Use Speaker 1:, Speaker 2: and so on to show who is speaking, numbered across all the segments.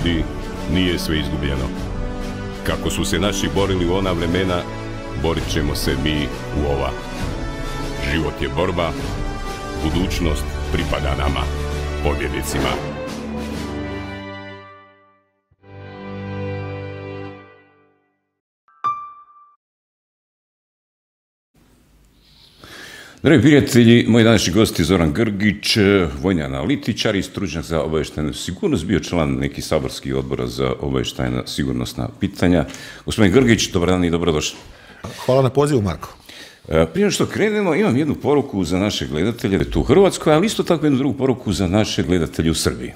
Speaker 1: ljudi, nije sve izgubljeno. Kako su se naši borili u ona vremena, borit ćemo se mi u ova. Život je borba, budućnost pripada nama, pobjednicima.
Speaker 2: Dragi prijatelji, moji današnji gosti Zoran Grgić, vojni analitičar i stručnjak za obavještajnu sigurnost, bio član nekih saborskih odbora za obavještajna sigurnosna pitanja. Gospodin Grgić, dobar dan i dobrodošli.
Speaker 3: Hvala na pozivu, Marko.
Speaker 2: Prije nego što krenemo, imam jednu poruku za naše gledatelje tu u Hrvatskoj, ali isto tako jednu drugu poruku za naše gledatelje u Srbiji.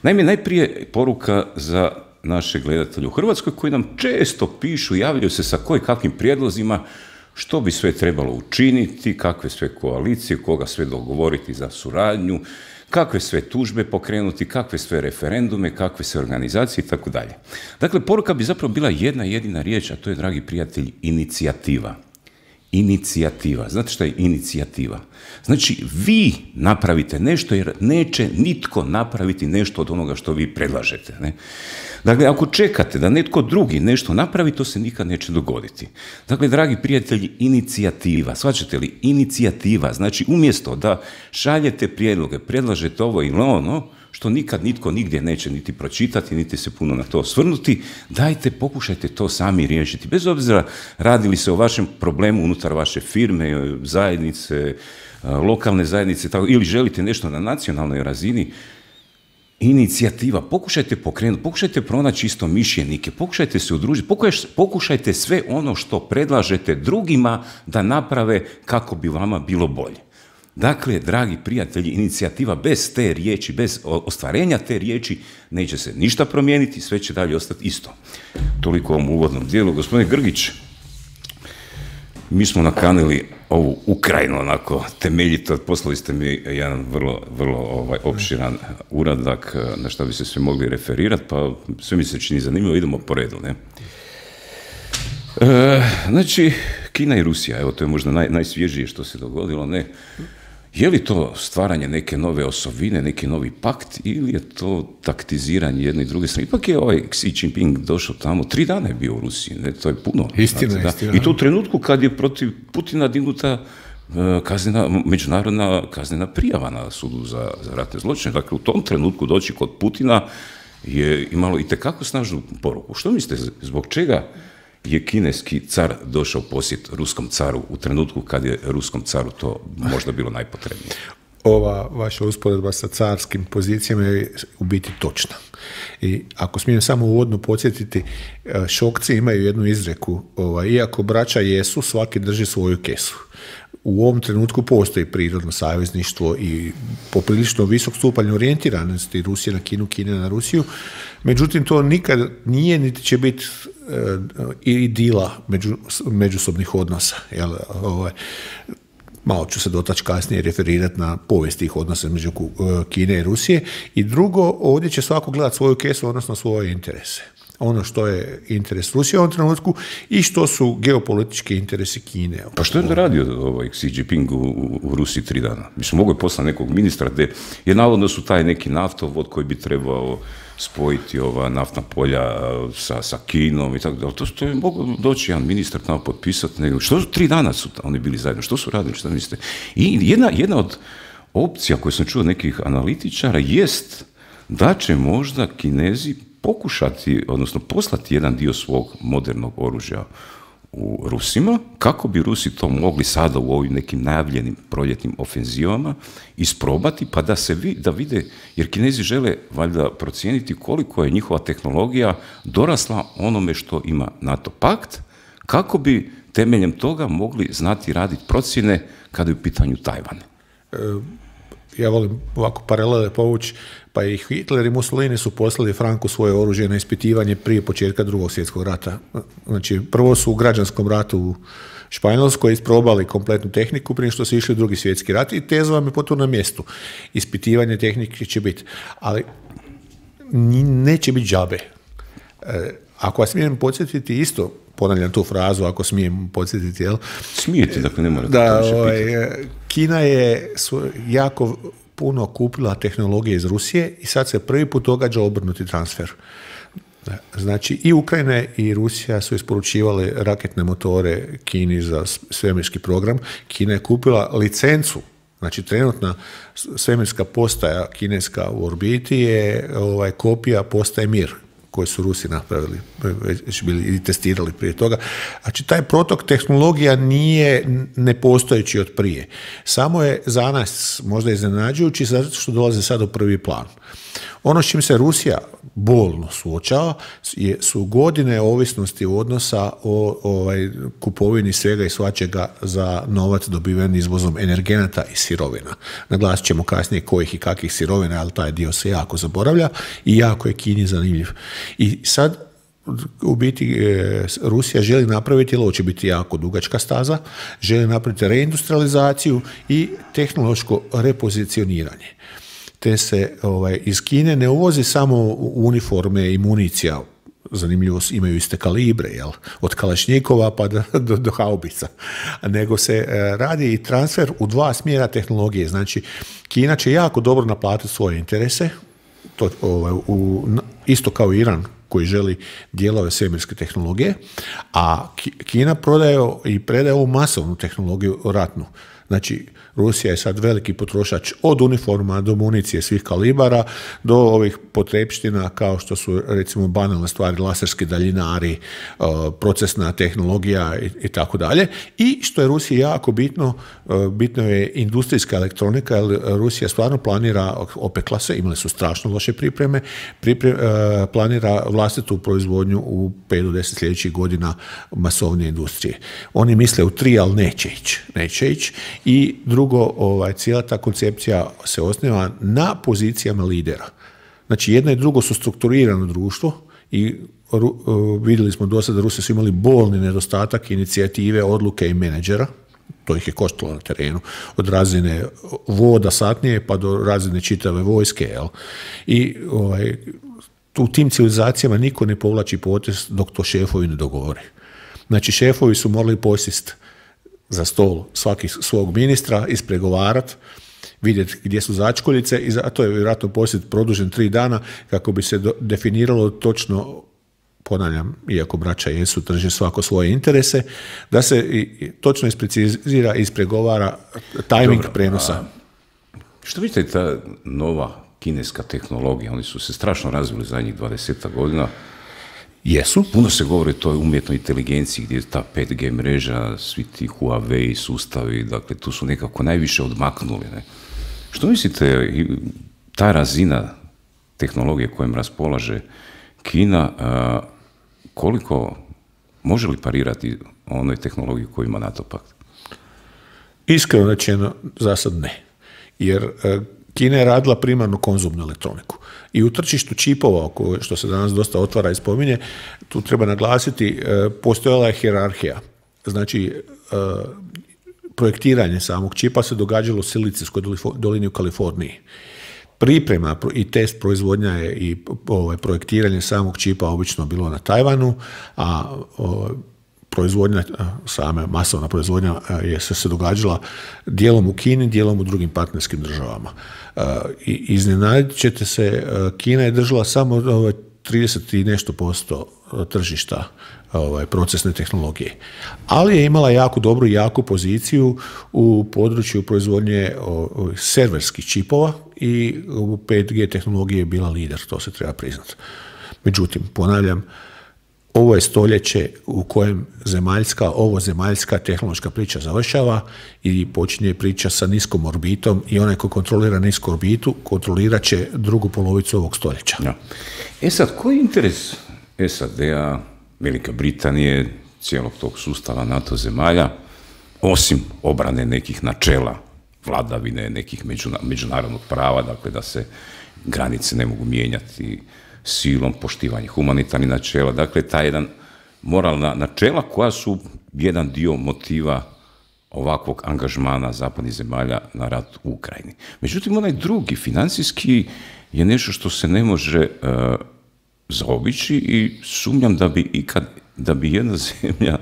Speaker 2: Naime, najprije poruka za naše gledatelje u Hrvatskoj koji nam često pišu, javljaju se sa kakvim prijedlozima što bi sve trebalo učiniti, kakve sve koalicije, koga sve dogovoriti za suradnju, kakve sve tužbe pokrenuti, kakve sve referendume, kakve sve organizacije i tako dalje. Dakle, poruka bi zapravo bila jedna jedina riječ, a to je, dragi prijatelji, inicijativa. Inicijativa. Znate šta je inicijativa? Znači, vi napravite nešto jer neće nitko napraviti nešto od onoga što vi predlažete. Ne? Dakle, ako čekate da netko drugi nešto napravi, to se nikad neće dogoditi. Dakle, dragi prijatelji, inicijativa. Shvaćate li? Inicijativa. Znači, umjesto da šaljete prijedloge, predlažete ovo ili ono, što nikad nitko nigdje neće niti pročitati, niti se puno na to osvrnuti, dajte, pokušajte to sami riješiti. Bez obzira radili se o vašem problemu unutar vaše firme, zajednice, lokalne zajednice, tako, ili želite nešto na nacionalnoj razini, inicijativa, pokušajte pokrenuti, pokušajte pronaći istomišljenike, pokušajte se udružiti, pokušajte sve ono što predlažete drugima da naprave kako bi vama bilo bolje. Dakle, dragi prijatelji, inicijativa bez te riječi, bez ostvarenja te riječi, neće se ništa promijeniti, sve će dalje ostati isto. Toliko u ovom uvodnom dijelu. Gospodine Grgić, mi smo nakanili ovu Ukrajinu onako temeljito, poslali ste mi jedan vrlo opširan uradak na što bi se sve mogli referirati, pa sve mi se čini zanimljivo, idemo po redu, ne? Znači, Kina i Rusija, evo to je možda najsvježije što se dogodilo, ne? Je li to stvaranje neke nove osovine, neki novi pakt ili je to taktiziranje jedne i druge strane? Ipak je ovaj Xi Jinping došao tamo, 3 dana je bio u Rusiji, ne? To je puno.
Speaker 3: Istina.
Speaker 2: I to u trenutku kad je protiv Putina dignuta međunarodna kaznena prijava na sudu za ratne zločine. Dakle, u tom trenutku doći kod Putina je imalo itekako snažnu poruku. Što mislite, zbog čega je kineski car došao posjet ruskom caru u trenutku kad je ruskom caru to možda bilo najpotrebnije?
Speaker 3: Ova vaša usporedba sa carskim pozicijama je u biti točna. I ako smijem samo uvodno podsjetiti, Šokci imaju jednu izreku, iako braća jesu, svaki drži svoju kesu. U ovom trenutku postoji prirodno savezništvo i poprilično visok stupanj orijentiranosti Rusije na Kinu, Kine na Rusiju. Međutim, to nikad nije niti će biti idila međusobnih odnosa. Malo ću se dotaći kasnije referirati na povijest tih odnosa među Kine i Rusije. I drugo, ovdje će svako gledati svoju kesu, odnosno svoje interese. Ono što je interes Rusije u ovom trenutku i što su geopolitički interesi Kine.
Speaker 2: Pa što je onda radio Xi Jinping u Rusiji 3 dana? Mislim, mogu je poslati nekog ministra gdje je navodno su taj neki naftovod koji bi trebao spojiti ova naftna polja sa Kinom i tako dalje. To je mogu doći jedan ministar tamo potpisati. Što 3 dana su oni bili zajedno? Što su radili? Što mislite? I jedna od opcija koju sam čuo od nekih analitičara jest da će možda Kinezi pokušati, odnosno poslati jedan dio svog modernog oružja u Rusima, kako bi Rusi to mogli sada u ovim nekim najavljenim proljetnim ofenzivama isprobati, pa da vide, jer Kinezi žele valjda procijeniti koliko je njihova tehnologija dorasla onome što ima NATO pakt, kako bi temeljem toga mogli znati raditi procjene kada je u pitanju Tajvan.
Speaker 3: Ja volim ovako paralele povući, pa i Hitler i Mussolini su poslali Franku svoje oružje na ispitivanje prije početka Drugog svjetskog rata. Znači, prvo su u građanskom ratu u Španjolskoj isprobali kompletnu tehniku prije što su išli u Drugi svjetski rat i teza vam je potpuno na mjestu. Ispitivanje tehnike će biti, ali neće biti džabe. Ako vas smijem podsjetiti isto, ponavljam tu frazu, ako smijem podsjetiti, jel?
Speaker 2: Smijete, dakle ne morate
Speaker 3: da, Kina je jako puno kupila tehnologije iz Rusije i sad se prvi put događa obrnuti transfer. Znači i Ukrajina i Rusija su isporučivali raketne motore Kini za svemirski program. Kina je kupila licencu, znači trenutna svemirska postaja kineska u orbiti je kopija postaje Mir, koje su Rusi napravili, već bili i testirali prije toga. Znači, taj protok tehnologija nije nepostojeći od prije. Samo je za nas možda iznenađujući zato što dolaze sad u prvi plan. Ono s čim se Rusija bolno suočava su godine ovisnosti odnosa o kupovini svega i svačega za novac dobiven izvozom energenata i sirovina. Naglasit ćemo kasnije kojih i kakvih sirovina, ali taj dio se jako zaboravlja i jako je Kini zanimljiv. I sad u biti Rusija želi napraviti, jer ovo će biti jako dugačka staza, želi napraviti reindustrializaciju i tehnološko repozicioniranje. Te se iz Kine ne uvozi samo uniforme i municija, zanimljivo imaju iste kalibre, jel? Od kalašnjikova pa do haubica, nego se radi i transfer u dva smjera tehnologije. Znači, Kina će jako dobro naplatiti svoje interese, isto kao Iran koji želi dijelove svemirske tehnologije, a Kina prodaje i predaje ovu masovnu tehnologiju ratnu. Znači, Rusija je sad veliki potrošač od uniforma do municije svih kalibara, do ovih potrepština kao što su recimo banalne stvari, laserski daljinari, procesna tehnologija i tako dalje. I što je Rusiji jako bitno je industrijska elektronika, jer Rusija stvarno planira, opekla se, imali su strašno loše pripreme, planira vlastitu proizvodnju u 5 do 10 sljedećih godina masovne industrije. Oni misle u 3, ali neće ići. I drugo, cijela ta koncepcija se osniva na pozicijama lidera. Znači, jedno i drugo su strukturirano društvo i vidjeli smo do sada da Rusi su imali bolni nedostatak inicijative, odluke i menadžera. To ih je koštalo na terenu. Od razine voda satnije pa do razine čitave vojske. Jel? I u tim civilizacijama niko ne povlači potez dok to šefovi ne dogovore. Znači, šefovi su morali posjesti za stol svaki svog ministra, ispregovarati, vidjeti gdje su začkoljice i zato je vjerojatno posjet produžen 3 dana kako bi se definiralo točno, ponavljam, iako braća jesu, drže svako svoje interese, da se točno isprecizira i ispregovara tajming prenosa.
Speaker 2: Što vidite ta nova kineska tehnologija? Oni su se strašno razvili zadnjih 20 godina.
Speaker 3: Jesu.
Speaker 2: Puno se govori o toj umjetnoj inteligenciji gdje je ta 5G mreža, svi ti Huawei sustavi, dakle tu su nekako najviše odmaknuli. Ne? Što mislite, ta razina tehnologije kojom raspolaže Kina, koliko može li parirati onoj tehnologiji koju ima NATO pakt?
Speaker 3: Iskreno rečeno, za sad ne. Jer Kina je radila primarno konzumnu elektroniku. I u tržištu čipova, što se danas dosta otvara i spominje, tu treba naglasiti, postojala je hijerarhija. Znači, projektiranje samog čipa se događalo u Silicijskoj dolini u Kaliforniji. Priprema i test proizvodnja je i projektiranje samog čipa obično bilo na Tajvanu, a proizvodnja, sama masovna proizvodnja je se događala dijelom u Kini, dijelom u drugim partnerskim državama. I iznenadit ćete se, Kina je držala samo 30 i nešto % tržišta procesne tehnologije. Ali je imala jako dobru i jaku poziciju u području proizvodnje serverskih čipova i u 5G tehnologije je bila lider, to se treba priznati. Međutim, ponavljam, ovo je stoljeće u kojem zemaljska tehnološka priča završava i počinje priča sa niskom orbitom i onaj ko kontrolira nisku orbitu kontrolirat će drugu polovicu ovog stoljeća.
Speaker 2: Ja. Sad, koji je interes SAD-a, Velike Britanije, cijelog tog sustava NATO zemalja, osim obrane nekih načela, vladavine, nekih međunarodnog prava, dakle da se granice ne mogu mijenjati silom, poštivanje humanitarnih načela, dakle ta jedan moralna načela koja su jedan dio motiva ovakvog angažmana zapadnih zemalja na rat u Ukrajini. Međutim, onaj drugi, financijski, je nešto što se ne može zaobići i sumnjam da bi jedna zemlja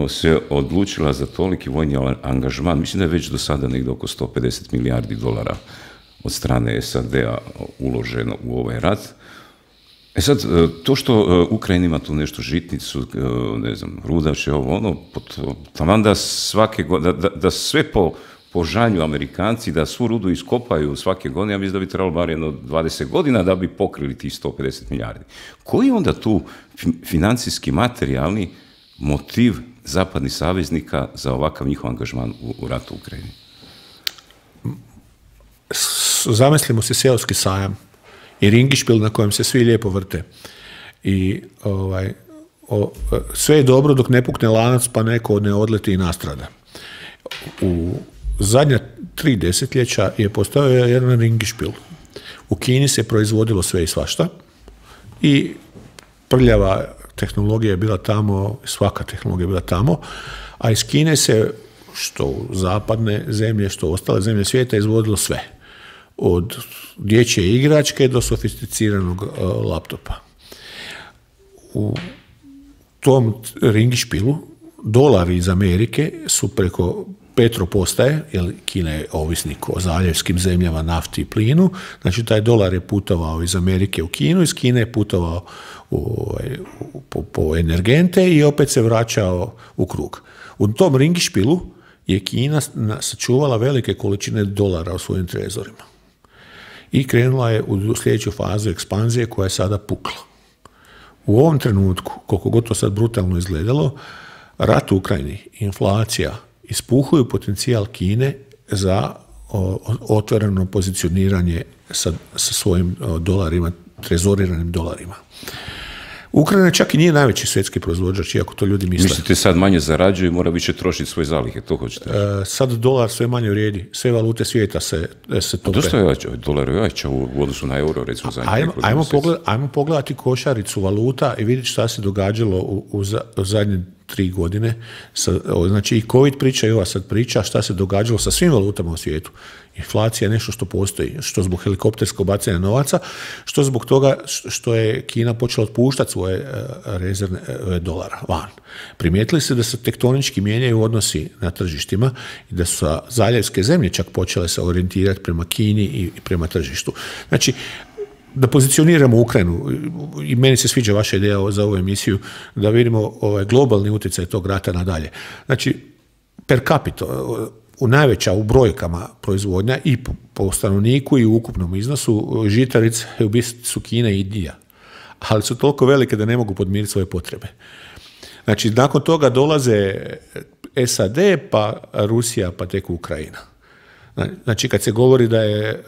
Speaker 2: se odlučila za toliki vojni angažman. Mislim da je već do sada negdje oko $150 milijardi od strane SAD-a uloženo u ovaj rat. Sad, to što Ukrajina ima tu nešto žitnicu, ne znam, rudače, taman da svake godine, da sve po žanju Amerikanci, da svu rudu iskopaju svake godine, ja mislim da bi trebalo bar jedno 20 godina da bi pokrili tih 150 milijardi. Koji je onda tu financijski, materijalni motiv zapadnih saveznika za ovakav njihov angažman u ratu u Ukrajini?
Speaker 3: Zamislimo se seoski sajam i ringišpil na kojem se svi lijepo vrte. I sve je dobro dok ne pukne lanac pa neko ne odleti i nastrada. U zadnja 3 desetljeća je postojao jedan ringišpil. U Kini se proizvodilo sve i svašta i prljava tehnologija je bila tamo, svaka tehnologija je bila tamo, a iz Kine se, što zapadne zemlje, što ostale zemlje svijeta, izvodilo sve. Od dječje igračke do sofisticiranog laptopa. U tom ringišpilu dolari iz Amerike su preko petropostaje, jer Kina je ovisnik o zaljevskim zemljama, nafti i plinu, znači taj dolar je putovao iz Amerike u Kinu, iz Kine je putovao po energente i opet se vraćao u krug. U tom ringišpilu je Kina sačuvala velike količine dolara u svojim trezorima. I krenula je u sljedeću fazu ekspanzije koja je sada pukla. U ovom trenutku, koliko god to sad brutalno izgledalo, rat u Ukrajini, inflacija, ispuhuju potencijal Kine za otvoreno pozicioniranje sa svojim dolarima, trezoriranim dolarima. Ukrajina čak i nije najveći svjetski proizvođač, iako to ljudi misle.
Speaker 2: Mislite sad manje zarađuje i mora više trošiti svoje zalihe, to hoćete?
Speaker 3: Sad dolar sve manje vrijedi, sve valute svijeta se tope.
Speaker 2: A to što je jača? Dolar je jača u odnosu na euro, recimo za
Speaker 3: Ajmo pogledati košaricu valuta i vidjeti šta se događalo u zadnje 3 godine. Znači i COVID priča i ova sad priča, šta se događalo sa svim valutama u svijetu. Inflacija je nešto što postoji, što zbog helikopterskog bacanja novaca, što zbog toga što je Kina počela otpuštati svoje rezervne dolara van. Primijetili se da se tektonički mijenjaju odnosi na tržištima i da su zaljevske zemlje čak počele se orijentirati prema Kini i prema tržištu. Znači, da pozicioniramo Ukrajinu, i meni se sviđa vaša ideja za ovu emisiju, da vidimo globalni utjecaj tog rata nadalje. Znači, per capita, najveća u brojkama proizvodnja i po stanovniku i u ukupnom iznosu žitarice u biti su Kina i Indija, ali su toliko velike da ne mogu podmiriti svoje potrebe. Znači, nakon toga dolaze SAD, pa Rusija, pa tek Ukrajina. Znači, kad se govori da je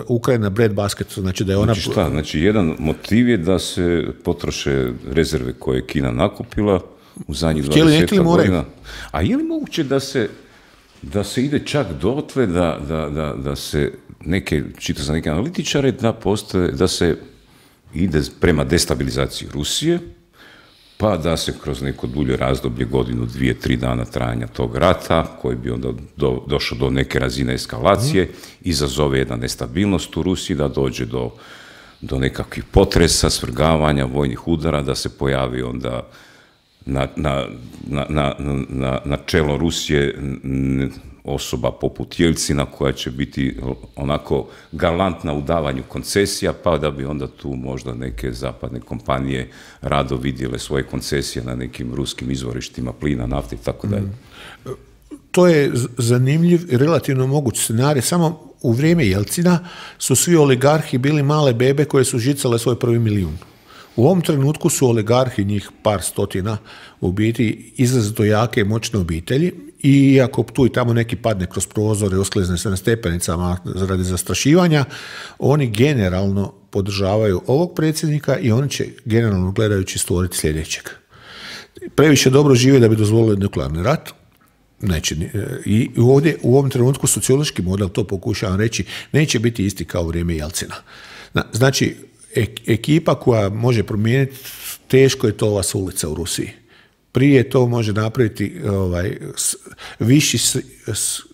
Speaker 3: Ukrajina breadbasket, znači da je ona...
Speaker 2: Znači šta? Znači, jedan motiv je da se potroše rezerve koje je Kina nakupila u zadnjih 20 godina. A je li moguće da se ide čak dotle da se čita za neke analitičare, da se ide prema destabilizaciji Rusije, pa da se kroz neko dulje razdoblje, 1, 2, 3 dana trajanja tog rata, koji bi onda došao do neke razine eskalacije, izazove jedna nestabilnost u Rusiji, da dođe do nekakvih potresa, svrgavanja, vojnih udara, da se pojavi onda na čelo Rusije osoba poput Jelcina koja će biti onako galantna u davanju koncesija, pa da bi onda tu možda neke zapadne kompanije rado vidjele svoje koncesije na nekim ruskim izvorištima plina, nafte i tako dalje.
Speaker 3: To je zanimljiv i relativno moguć scenarij. Samo u vrijeme Jelcina su svi oligarhi bili male bebe koje su žicale svoj prvi milijun. U ovom trenutku su oligarhi, njih par stotina, u biti izrazito jake i moćne obitelji, i ako tu i tamo neki padne kroz prozore, osklizne se na stepenicama radi zastrašivanja, oni generalno podržavaju ovog predsjednika i oni će generalno gledajući stvoriti sljedećeg. Previše dobro žive da bi dozvolili nuklearni rat. Neće, i ovdje u ovom trenutku sociološki model, to pokušavam reći, neće biti isti kao u vrijeme Jelcina. Znači, ekipa koja može promijeniti, teško je to ova s ulica u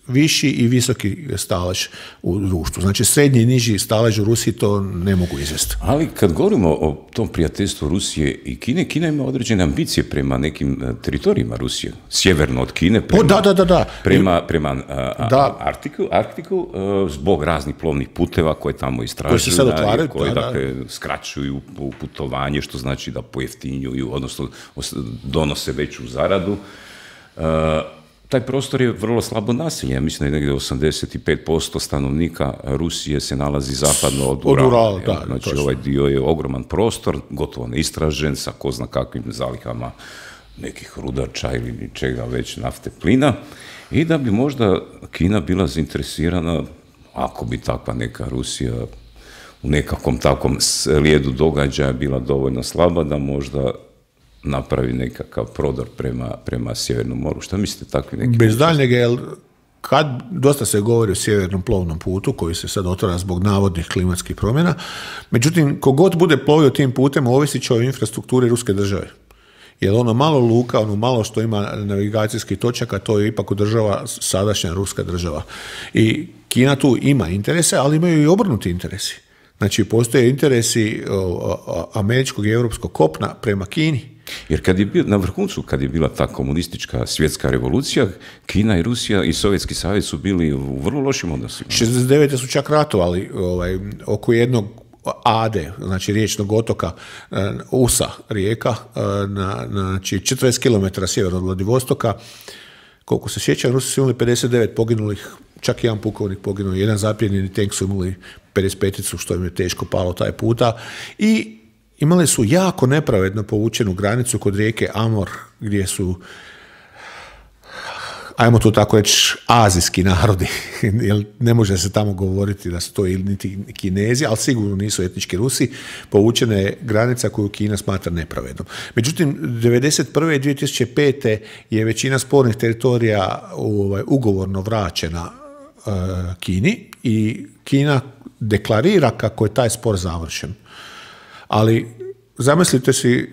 Speaker 3: viši i visoki stalež u društvu. Znači srednji i niži stalež u Rusiji to ne mogu izvesti.
Speaker 2: Ali kad govorimo o tom prijateljstvu Rusije i Kine, Kina ima određene ambicije prema nekim teritorijima Rusije. Sjeverno od Kine prema Arktiku, zbog raznih plovnih puteva koje tamo istražuju,
Speaker 3: koji se sad otvaraju,
Speaker 2: koji skraćuju putovanje, što znači da pojeftinjuju, odnosno donose veću zaradu. Taj prostor je vrlo slabo naseljen. Ja mislim da je negdje 85% stanovnika Rusije se nalazi zapadno od Urala. Znači ovaj dio je ogroman prostor, gotovo neistražen, sa ko zna kakvim zalihama nekih rudača ili čega već, nafte, plina. I da bi možda Kina bila zainteresirana, ako bi takva neka Rusija u nekakvom takvom slijedu događaja bila dovoljno slaba da možda napravi nekakav prodor prema Sjevernom moru. Šta mislite takvi neki?
Speaker 3: Bez daljnjega, jer kad dosta se govori o sjevernom plovnom putu koji se sad otvara zbog navodnih klimatskih promjena, međutim, kogod bude plovio tim putem ovisit će o infrastrukturi ruske države. Jer ono malo luka, ono malo što ima navigacijskih točaka, to je ipak održava sadašnja ruska država. I Kina tu ima interese, ali imaju i obrnuti interesi. Znači, postoje interesi američkog i europskog kopna prema Kini.
Speaker 2: Jer kad je bio, na vrhuncu, kad je bila ta komunistička svjetska revolucija, Kina i Rusija i Sovjetski savez su bili u vrlo lošim odnosima.
Speaker 3: 69. su čak ratovali oko Ade, znači riječnog otoka, Usa rijeka, znači 40 km sjeverno od Vladivostoka. Koliko se sjećam, Rusi su imali 59 poginulih, čak jedan pukovnik poginuo, jedan zapljenjeni tank su imali 55-icu, što im je teško palo taj puta. I imali su jako nepravedno povučenu granicu kod rijeke Amur, gdje su, ajmo to tako reći, azijski narodi, jer ne može se tamo govoriti da su to niti Kinezi, ali sigurno nisu etnički Rusi, povučena je granica koju Kina smatra nepravednom. Međutim, 1991. i 2005. je većina spornih teritorija ugovorno vraćena Kini i Kina deklarira kako je taj spor završen. Ali zamislite si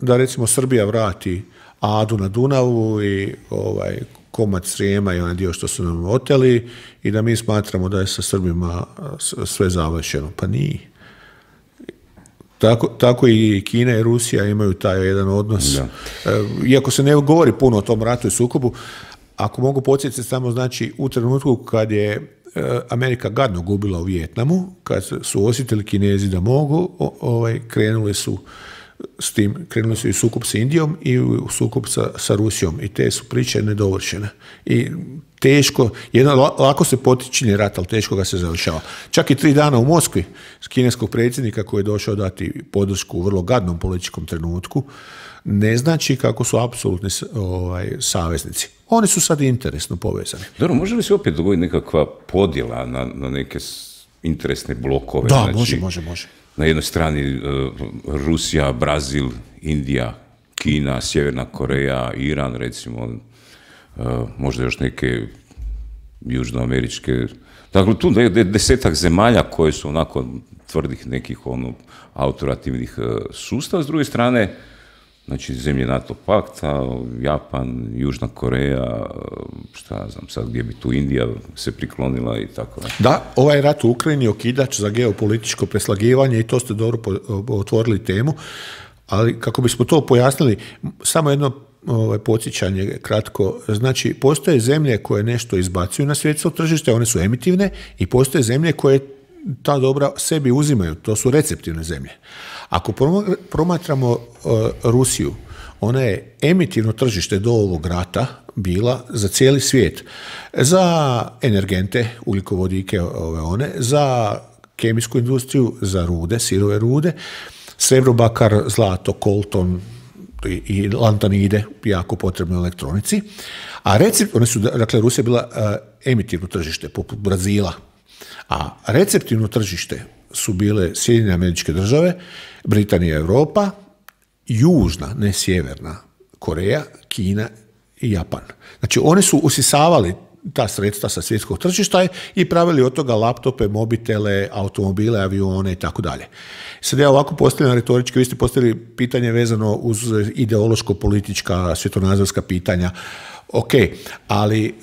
Speaker 3: da recimo Srbija vrati Adu na Dunavu i komad Srijema i onaj dio što su nam oteli i da mi smatramo da je sa Srbima sve završeno. Pa nije. Tako i Kina i Rusija imaju taj jedan odnos. Da. Iako se ne govori puno o tom ratu i sukobu, ako mogu podsjetiti samo, znači u trenutku kad je Amerika gadno gubila u Vijetnamu, kad su osjetili Kinezi da mogu, krenuli su i sukob s Indijom i u sukob sa Rusijom i te su priče nedovršene. I teško, lako se potičini rat, ali teško ga se završava. Čak i 3 dana u Moskvi s kineskog predsjednika koji je došao dati podršku u vrlo gadnom političkom trenutku, ne znači kako su apsolutni saveznici. Oni su sad interesno povezani.
Speaker 2: Dobro, može li se opet dogoditi nekakva podjela na neke interesne blokove?
Speaker 3: Da, znači, može.
Speaker 2: Na jednoj strani Rusija, Brazil, Indija, Kina, Sjeverna Koreja, Iran, recimo, možda još neke južnoameričke. Dakle, tu je 10 zemalja koje su onako tvrdih nekih autoritativnih sustava. S druge strane, znači zemlje NATO pakta, Japan, Južna Koreja, šta znam sad gdje bi tu Indija se priklonila i tako.
Speaker 3: Da, ovaj rat u Ukrajini je okidač za geopolitičko preslagivanje i to ste dobro otvorili temu, ali kako bismo to pojasnili, samo jedno podsjećanje kratko. Znači, postoje zemlje koje nešto izbacuju na svjetsko tržište, one su emitivne i postoje zemlje koje ta dobra sebi uzimaju, to su receptivne zemlje. Ako promatramo Rusiju, ona je emitivno tržište do ovog rata bila za cijeli svijet. Za energente, ugljikovodike, za kemijsku industriju, za rude, sirove rude, srebro, bakar, zlato, kolton i lantanide, jako potrebno elektronici. A Rusija je bila emitivno tržište, poput Brazila. A receptivno tržište su bile Sjedinjene Američke Države, Britanija i Europa, južna, ne sjeverna, Koreja, Kina i Japan. Znači, oni su usisavali ta sredstva sa svjetskog tržišta i pravili od toga laptope, mobitele, automobile, avione i tako dalje. Sad ja ovako postavljam retorički, vi ste postavili pitanje vezano uz ideološko-politička, svjetonazorska pitanja. Ok, ali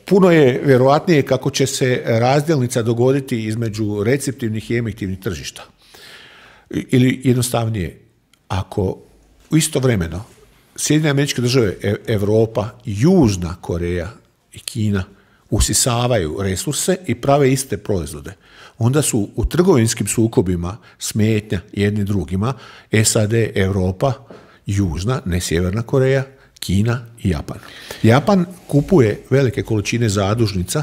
Speaker 3: puno je vjerojatnije kako će se razdjelnica dogoditi između receptivnih i emitivnih tržišta. Ili jednostavnije, ako istovremeno Sjedinjene Američke Države, Europa, Južna Koreja i Kina usisavaju resurse i prave iste proizvode, onda su u trgovinskim sukobima smetnja jedni drugima SAD, Europa, Južna, ne Sjeverna Koreja, Kina i Japan. Japan kupuje velike količine zadužnica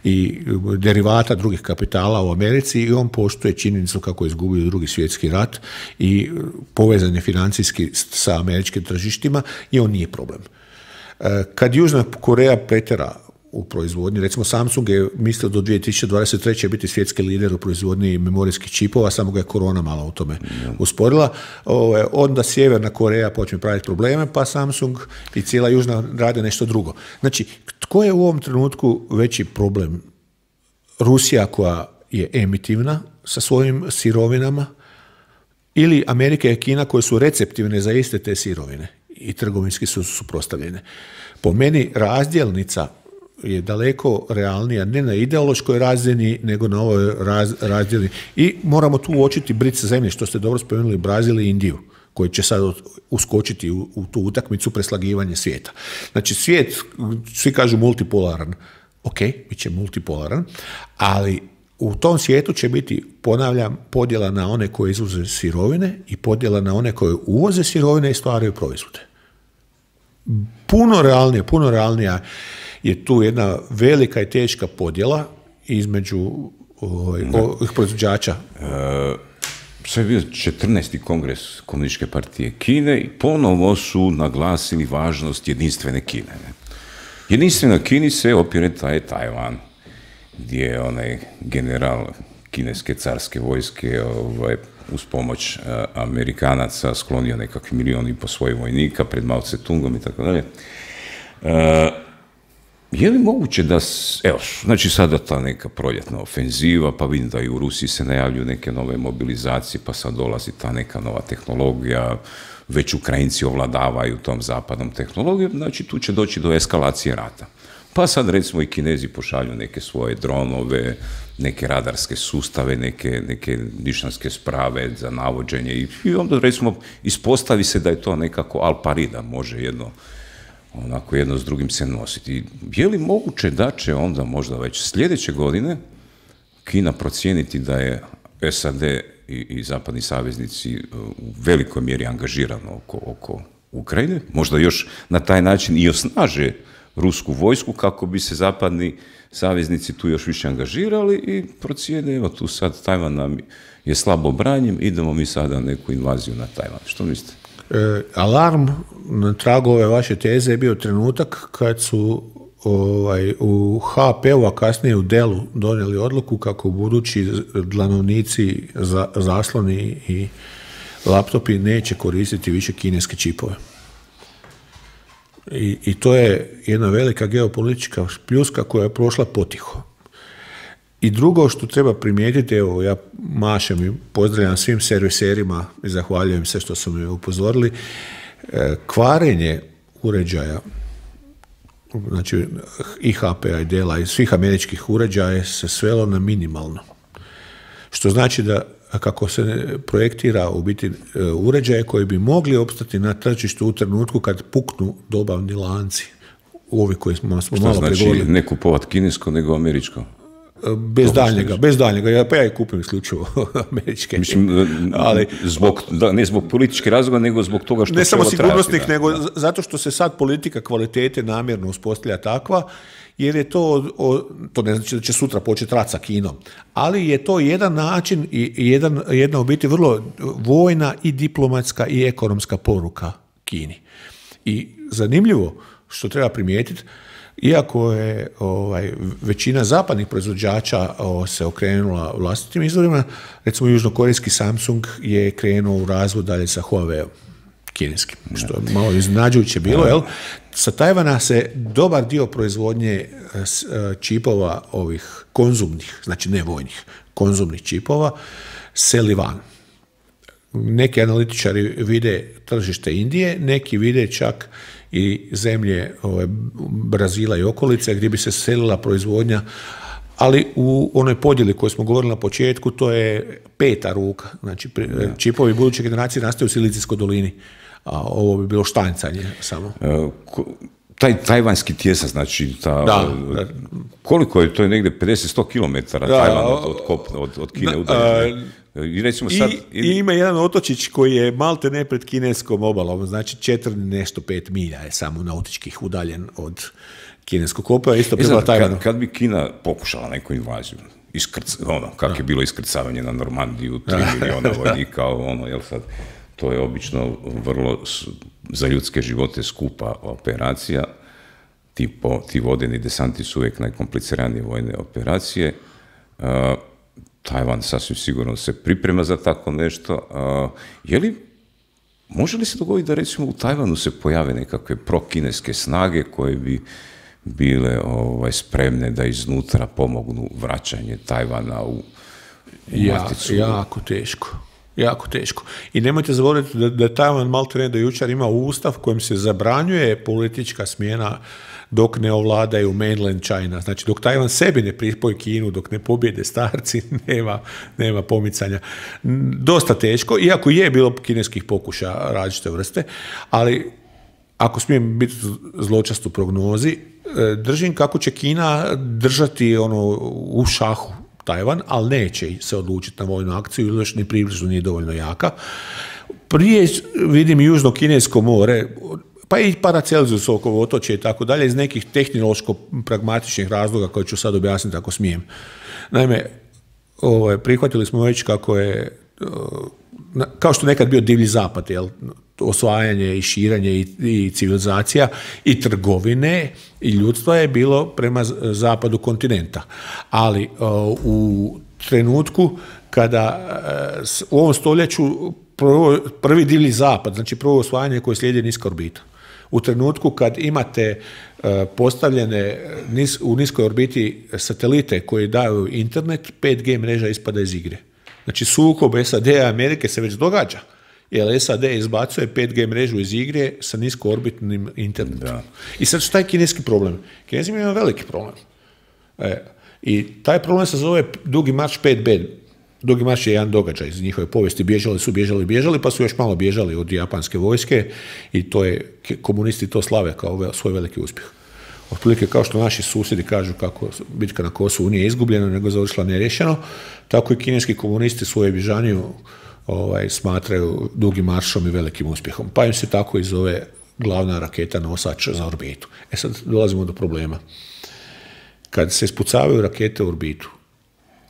Speaker 3: i derivata drugih kapitala u Americi i on poštuje činjenicu kako je izgubio Drugi svjetski rat i povezan je financijski sa američkim tržištima i on nije problem. Kad Južna Koreja pretjera u proizvodnji, recimo Samsung je mislio do 2023. biti svjetski lider u proizvodnji memorijskih čipova, samo ga je korona malo u tome usporila. Onda Sjeverna Koreja počne praviti probleme, pa Samsung i cijela Južna rade nešto drugo. Znači, tko je u ovom trenutku veći problem? Rusija koja je emitivna sa svojim sirovinama ili Amerika i Kina koje su receptivne za iste te sirovine i trgovinski su suprotstavljene. Po meni razdjelnica je daleko realnija, ne na ideološkoj razini, nego na ovoj razdjeli. I moramo tu uočiti brice zemlje, što ste dobro spomenuli, Brazil i Indiju, koji će sad uskočiti u tu utakmicu preslagivanja svijeta. Znači, svijet, svi kažu multipolaran. Ok, bit će multipolaran, ali u tom svijetu će biti, ponavljam, podjela na one koje izvoze sirovine i podjela na one koje uvoze sirovine i stvaraju proizvode. Puno realnija je tu jedna velika i teška podjela između ovih proizvođača.
Speaker 2: Sve je bio 14. kongres Komunističke partije Kine i ponovo su naglasili važnost jedinstvene Kine. Jedinstvena Kini se opire Tajvan, gdje je onaj general kineske carske vojske uz pomoć Amerikanaca sklonio nekakvi 1,5 milijuna svojih vojnika pred Mao Tse-tungom i tako dalje. Je li moguće da, evo, znači sada ta neka proljetna ofenziva, pa vidim da i u Rusiji se najavljuju neke nove mobilizacije, pa sad dolazi ta neka nova tehnologija, već Ukrajinci ovladavaju tom zapadnom tehnologijom, znači tu će doći do eskalacije rata. Pa sad recimo i Kinezi pošalju neke svoje dronove, neke radarske sustave, neke nišanske sprave za navođenje i onda recimo ispostavi se da je to nekako al pari, da može jedno s drugim se nositi. Je li moguće da će onda možda već sljedeće godine Kina procijeniti da je SAD i zapadni saveznici u velikoj mjeri angažirano oko Ukrajine? Možda još na taj način i osnaže rusku vojsku kako bi se zapadni saveznici tu još više angažirali i procijene, evo tu sad Tajvan nam je slabo branjen, idemo mi sada neku invaziju na Tajvan. Što mislite?
Speaker 3: Alarm na tragu ove vaše teze je bio trenutak kad su u HP-u, a kasnije u Dellu donijeli odluku kako budući dlanovnici, zasloni i laptopi neće koristiti više kineske čipove. I to je jedna velika geopolitička pljuska koja je prošla potiho. I drugo što treba primijetiti, evo ja mašem i pozdravljam svim serviserima i zahvaljujem se što su me upozorili, kvarenje uređaja, znači i HP-a i Della i svih američkih uređaja se svelo na minimalno. Što znači da kako se projektira u biti uređaje koji bi mogli opstati na tržištu u trenutku kad puknu dobavni lanci. Ovi koji smo malo pregovorili.
Speaker 2: Što znači ne kupovat kinesko nego američko?
Speaker 3: Bez daljnjega. Pa ja i kupim isključivo američke.
Speaker 2: Mislim, ali, ne zbog političke razloga, nego zbog toga što
Speaker 3: ne samo sigurnosnih, nego zato što se sad politika kvalitete namjerno uspostavlja takva, jer je to ne znači da će sutra početi rat sa Kinom, ali je to jedan način i jedna u biti vrlo vojna i diplomatska i ekonomska poruka Kini. I zanimljivo što treba primijetiti, iako je većina zapadnih proizvođača se okrenula vlastitim izvorima, recimo južnokorejski Samsung je krenuo u razvoj dalje sa Huawei kineskim, što je malo iznenađujuće bilo, jel? Sa Tajvana se dobar dio proizvodnje čipova ovih konzumnih, znači ne vojnih, konzumnih čipova, seli van. Neki analitičari vide tržište Indije, neki vide čak i zemlje Brazila i okolice gdje bi se selila proizvodnja, ali u onoj podjeli koju smo govorili na početku, to je peta ruka. Znači, čipovi buduće generacije nastaju u Silicijskoj dolini, a ovo bi bilo štancanje samo.
Speaker 2: Taj tajvanski tjesak, znači, koliko je, to je negdje 50-100 km Tajvan od Kine udaljen. I recimo sad...
Speaker 3: ima jedan otočić koji je malte ne pred kineskom obalom, znači 4-5 milja je samo nautičkih udaljen od kineskog kopova, isto prema Tajvanu.
Speaker 2: Kad bi Kina pokušala neku invaziju, kako je bilo iskrcavanje na Normandiju, 3 miliona vojnika, jel sad, to je obično vrlo za ljudske živote skupa operacija, ti vodeni desanti su uvijek najkompliciranije vojne operacije. Tajvan sasvim sigurno se priprema za tako nešto. Može li se dogoditi da recimo u Tajvanu se pojave nekakve prokineske snage koje bi bile spremne da iznutra pomognu vraćanje Tajvana u maticu?
Speaker 3: Jako teško. I nemojte zaboraviti da Tajvan maltene do jučer ima ustav kojim se zabranjuje politička smjena dok ne ovladaju mainland China. Znači, dok Tajvan sebi ne pripoji Kinu, dok ne pobjede starci, nema pomicanja. Dosta teško, iako je bilo kineskih pokušaja različite vrste, ali ako smijem biti zločast u prognozi, držim kako će Kina držati u šahu Tajvan, ali neće se odlučiti na vojnu akciju, ili još ni približno nije dovoljno jaka. Prije vidim Južno-Kinesko more, pa i Paracelzusovo otočje i tako dalje, iz nekih tehnološko-pragmatičnih razloga koje ću sad objasniti ako smijem. Naime, prihvatili smo već kako je, kao što nekad bio divlji zapad, osvajanje i širenje i civilizacija i trgovine i ljudstva je bilo prema zapadu kontinenta. Ali u trenutku kada u ovom stoljeću prvi divlji zapad, znači prvo osvajanje koje slijedi niska orbita. U trenutku kad imate postavljene u niskoj orbiti satelite koji daju internet, 5G mreža ispada iz igre. Znači sukob SAD i Amerike se već događa, jer SAD izbacuje 5G mrežu iz igre sa niskoorbitnim internetom. Da. I sad što je kineski problem? Kinezi imaju veliki problem. I taj problem se zove Dugi marš 5B. Dugi marš je jedan događaj iz njihove povijesti. Bježali, pa su još malo bježali od japanske vojske i to je, komunisti to slave kao svoj veliki uspjeh. Otprilike kao što naši susjedi kažu kako bitka na Kosovu nije izgubljena, nego završila neriješeno, tako i kineski komunisti svoju bježaniju smatraju Dugim maršom i velikim uspjehom. Pa im se tako i zove glavna raketa nosač za orbitu. Sad dolazimo do problema. Kad se ispucavaju rakete u orbitu,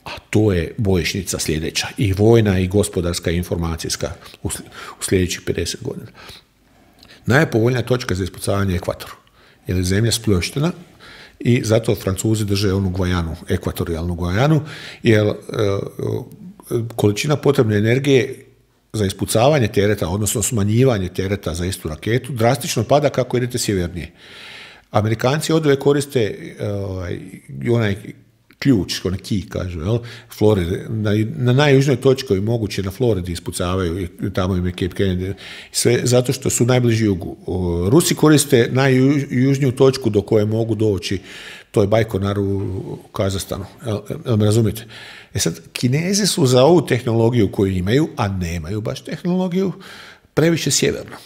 Speaker 3: a to je bojišnica sljedeća, i vojna i gospodarska i informacijska u sljedećih 50 godina. Najpovoljnija točka za ispucavanje je ekvator, jer je zemlja spljoštena i zato Francuzi drže onu Gvajanu, ekvatorijalnu Gvajanu, jer količina potrebne energije za ispucavanje tereta, odnosno smanjivanje tereta za istu raketu, drastično pada kako idete sjevernije. Amerikanci odve koriste onaj ključ, onaj key, kažu, Floride, na najjužnoj točki koji moguće na Floridi ispucavaju, i tamo im je Cape Kennedy, sve zato što su najbliži jugu. Rusi koriste najjužniju točku do koje mogu doći, to je Bajkonar u Kazahstanu, jel me razumijete? Sad, Kinezi su za ovu tehnologiju koju imaju, a nemaju baš tehnologiju, previše sjeverno.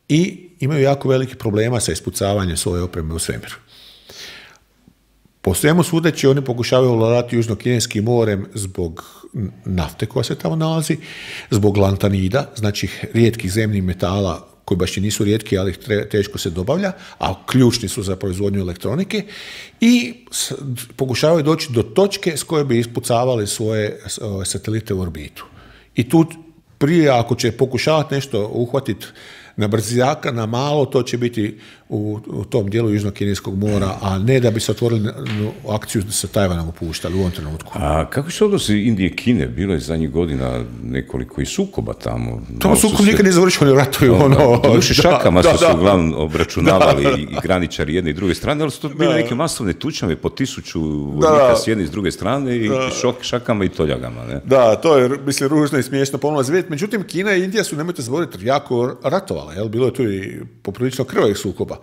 Speaker 3: I imaju jako veliki problema sa ispucavanjem svoje opreme u svemiru. Po svemu sudeći, oni pokušavaju ovladati Južno-Kineskim morem zbog nafte koja se tamo nalazi, zbog lantanida, znači rijetkih zemnih metala koji baš i nisu rijetki, ali ih teško se dobavlja, a ključni su za proizvodnju elektronike, i pokušavaju doći do točke s koje bi ispucavali svoje satelite u orbitu. I tu prije, ako će pokušavati nešto uhvatiti na brzaka, na malo, to će biti u tom dijelu Južno-Kineskog mora, a ne da bi se otvorili akciju sa Tajvanom upuštali u ovom trenutku.
Speaker 2: A kako su odnosi Indije i Kine? Bilo je zadnjih godina nekoliko i sukoba tamo.
Speaker 3: Tamo sukob nikad nije završio, oni ratuju.
Speaker 2: Šakama su se uglavnom obračunavali i graničari jedne i druge strane, ali su to bile neke masovne tučnjave po 1000 vojnika s jedne i s druge strane i šakama i toljagama. Ne?
Speaker 3: Da, to je, mislim, ružno i smiješno pomalo zvijet. Međutim, Kina i Indija su, nemojte zaboraviti, jako ratovali. dešavala. Jel? Bilo je tu i poprilično krvavih sukoba.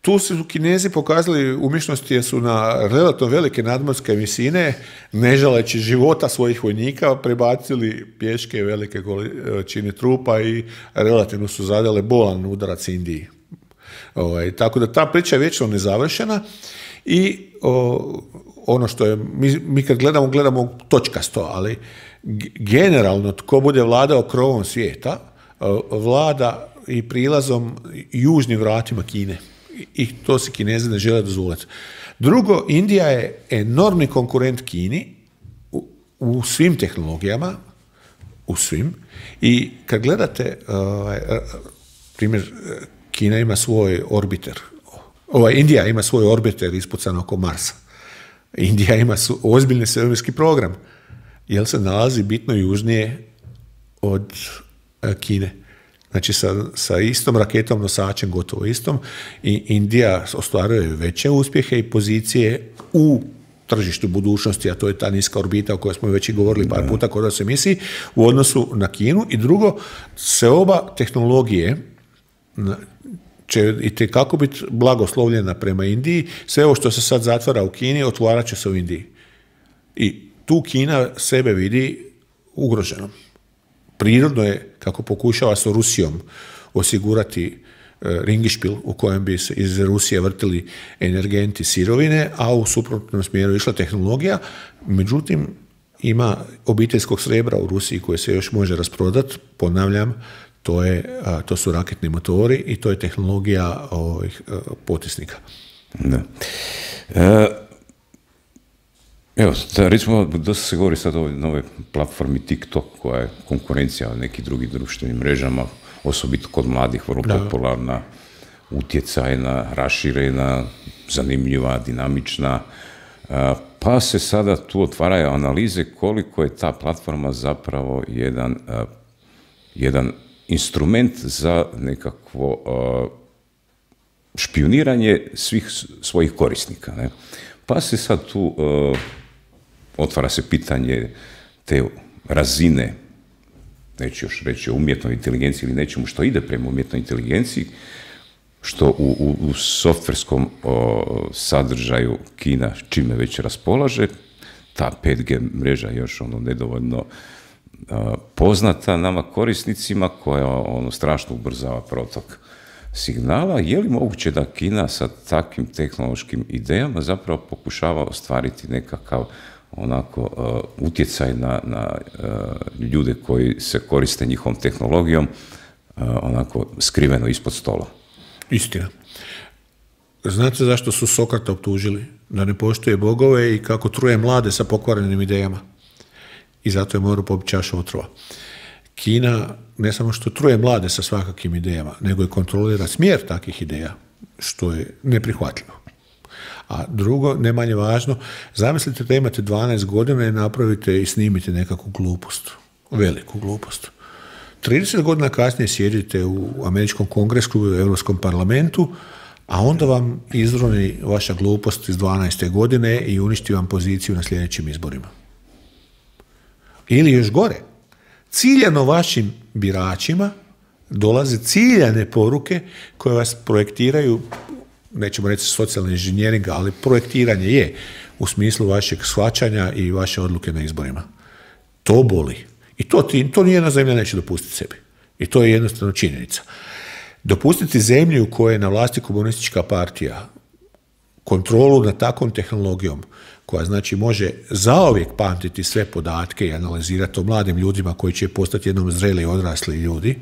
Speaker 3: Tu su Kinezi pokazali umješnosti jer su na relativno velike nadmorske visine, ne žaleći života svojih vojnika, prebacili pješke velike količine trupa i relativno su zadale bolan udarac Indiji. Tako da ta priča je vječno nezavršena i ono što je, mi kad gledamo točkasto, ali generalno tko bude vladao krovom svijeta, vlada i prilazom južnim vratima Kine. I to se Kinezi ne žele dozvoliti. Drugo, Indija je enormni konkurent Kini u svim tehnologijama, u svim. I kad gledate, primjer, Kina ima svoj orbiter. Indija ima svoj orbiter ispucan oko Marsa. Indija ima ozbiljni svemirski program, jer se nalazi bitno južnije od Kine. Znači sa istom raketom nosačem, gotovo istom, i Indija ostvaruje veće uspjehe i pozicije u tržištu budućnosti, a to je ta niska orbita o kojoj smo već i govorili par puta kod nas emisiji, u odnosu na Kinu. I drugo, se oba tehnologije će itekako biti blagoslovljena prema Indiji. Sve ovo što se sad zatvara u Kini, otvarat će se u Indiji. I tu Kina sebe vidi ugroženom. Prirodno je, kako pokušava sa Rusijom osigurati ringišpil u kojem bi se iz Rusije vrtili energenti, sirovine, a u suprotnom smjeru išla tehnologija. Međutim, ima obiteljskog srebra u Rusiji koje se još može rasprodati. Ponavljam, to su raketni motori i to je tehnologija potisnika.
Speaker 2: Da. Evo, recimo, dosta se govori sad o nove platformi TikTok, koja je konkurencija nekih drugih društvenim mrežama, osobito kod mladih, vrlo popularna, utjecajna, raširena, zanimljiva, dinamična. Pa se sada tu otvaraju analize koliko je ta platforma zapravo jedan instrument za nekakvo špijuniranje svih svojih korisnika. Ne? Pa se sad tu otvara se pitanje te razine, neću još reći o umjetnoj inteligenciji ili nečemu što ide prema umjetnoj inteligenciji, što u softverskom sadržaju Kina čime već raspolaže. Ta 5G mreža je još nedovoljno poznata nama korisnicima, koja strašno ubrzava protok signala. Je li moguće da Kina sa takvim tehnološkim idejama zapravo pokušava ostvariti nekakav utjecaj na ljude koji se koriste njihovom tehnologijom skriveno ispod stola?
Speaker 3: Istina. Znate zašto su Sokrata optužili? Da ne poštuje bogove i kako truje mlade sa pokvarenim idejama. I zato je morao popiti čašu otrova. Kina ne samo što truje mlade sa svakakvim idejama, nego i kontrolira smjer takvih ideja, što je neprihvatljivo. A drugo, ne manje važno, zamislite da imate 12 godina i napravite i snimite nekakvu glupost, veliku glupost. 30 godina kasnije sjedite u američkom kongresu, u Europskom parlamentu, a onda vam izroni vaša glupost iz 12. godine i uništi vam poziciju na sljedećim izborima. Ili još gore, ciljano vašim biračima dolaze ciljane poruke koje vas projektiraju, nećemo reći socijalni inženjering, ali projektiranje je u smislu vašeg shvaćanja i vaše odluke na izborima. To boli. I to nijedna zemlja neće dopustiti sebi. I to je jednostavno činjenica. Dopustiti zemlju u kojoj je na vlasti komunistička partija kontrolu nad takvom tehnologijom, koja znači može zauvijek pamtiti sve podatke i analizirati o mladim ljudima koji će postati jednom zreli i odrasli ljudi,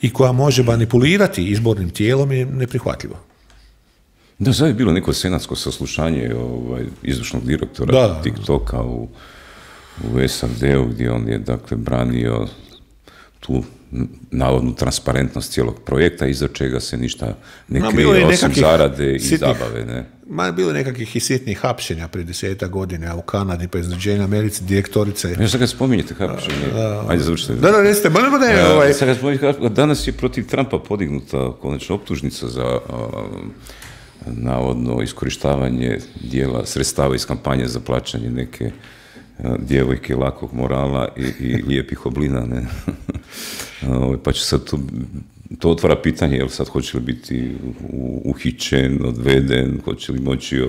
Speaker 3: i koja može manipulirati izbornim tijelom, je neprihvatljivo.
Speaker 2: Da, sad je bilo neko senatsko saslušanje izvršnog direktora TikToka u SAD-u, gdje on je branio tu navodnu transparentnost cijelog projekta, iza čega se ništa ne krije osim zarade i zabave. Ne?
Speaker 3: Bilo je nekakvih i sitnih hapšenja prije 10 godina u Kanadi, pa iznenađenja Americi, direktorice.
Speaker 2: Ja sad kad spominjete hapšenje, ajde završite.
Speaker 3: Da, recite,
Speaker 2: sad kad spominjete, danas je protiv Trumpa podignuta konačna optužnica za navodno iskorištavanje dijela sredstava iz kampanje za plaćanje neke djevojke lakog morala i lijepih oblina, ne? Pa će sad tu to otvara pitanje, jel sad hoće li biti uhićen, odveden, hoće li moći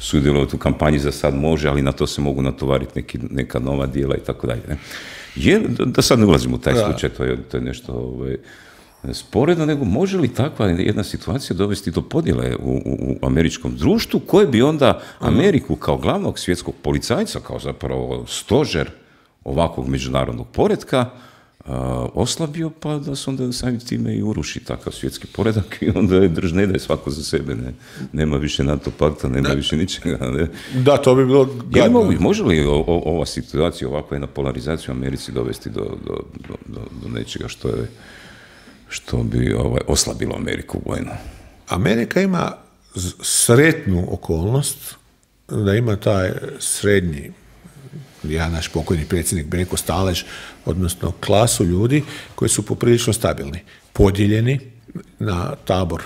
Speaker 2: sudjelovati u kampanji, za sad može, ali na to se mogu natovariti neka nova dijela i tako dalje. Da sad ne ulazimo u taj slučaj, to je nešto sporedno, nego može li takva jedna situacija dovesti do podjele u američkom društvu, koje bi onda Ameriku kao glavnog svjetskog policajca, kao zapravo stožer ovakvog međunarodnog poretka, oslabio, pa da se onda samim time i uruši takav svjetski poredak i onda ne da je svako za sebe, nema više NATO pakta, nema više ničega. Ne?
Speaker 3: Da, to bi bilo gadno.
Speaker 2: Može li ova situacija, ovakva jedna polarizacija u Americi dovesti do nečega što bi oslabilo Ameriku vojno?
Speaker 3: Amerika ima sretnu okolnost da ima taj srednji, naš pokojni predsjednik Benko Stalež, odnosno klasu ljudi koji su poprilično stabilni, podijeljeni na tabor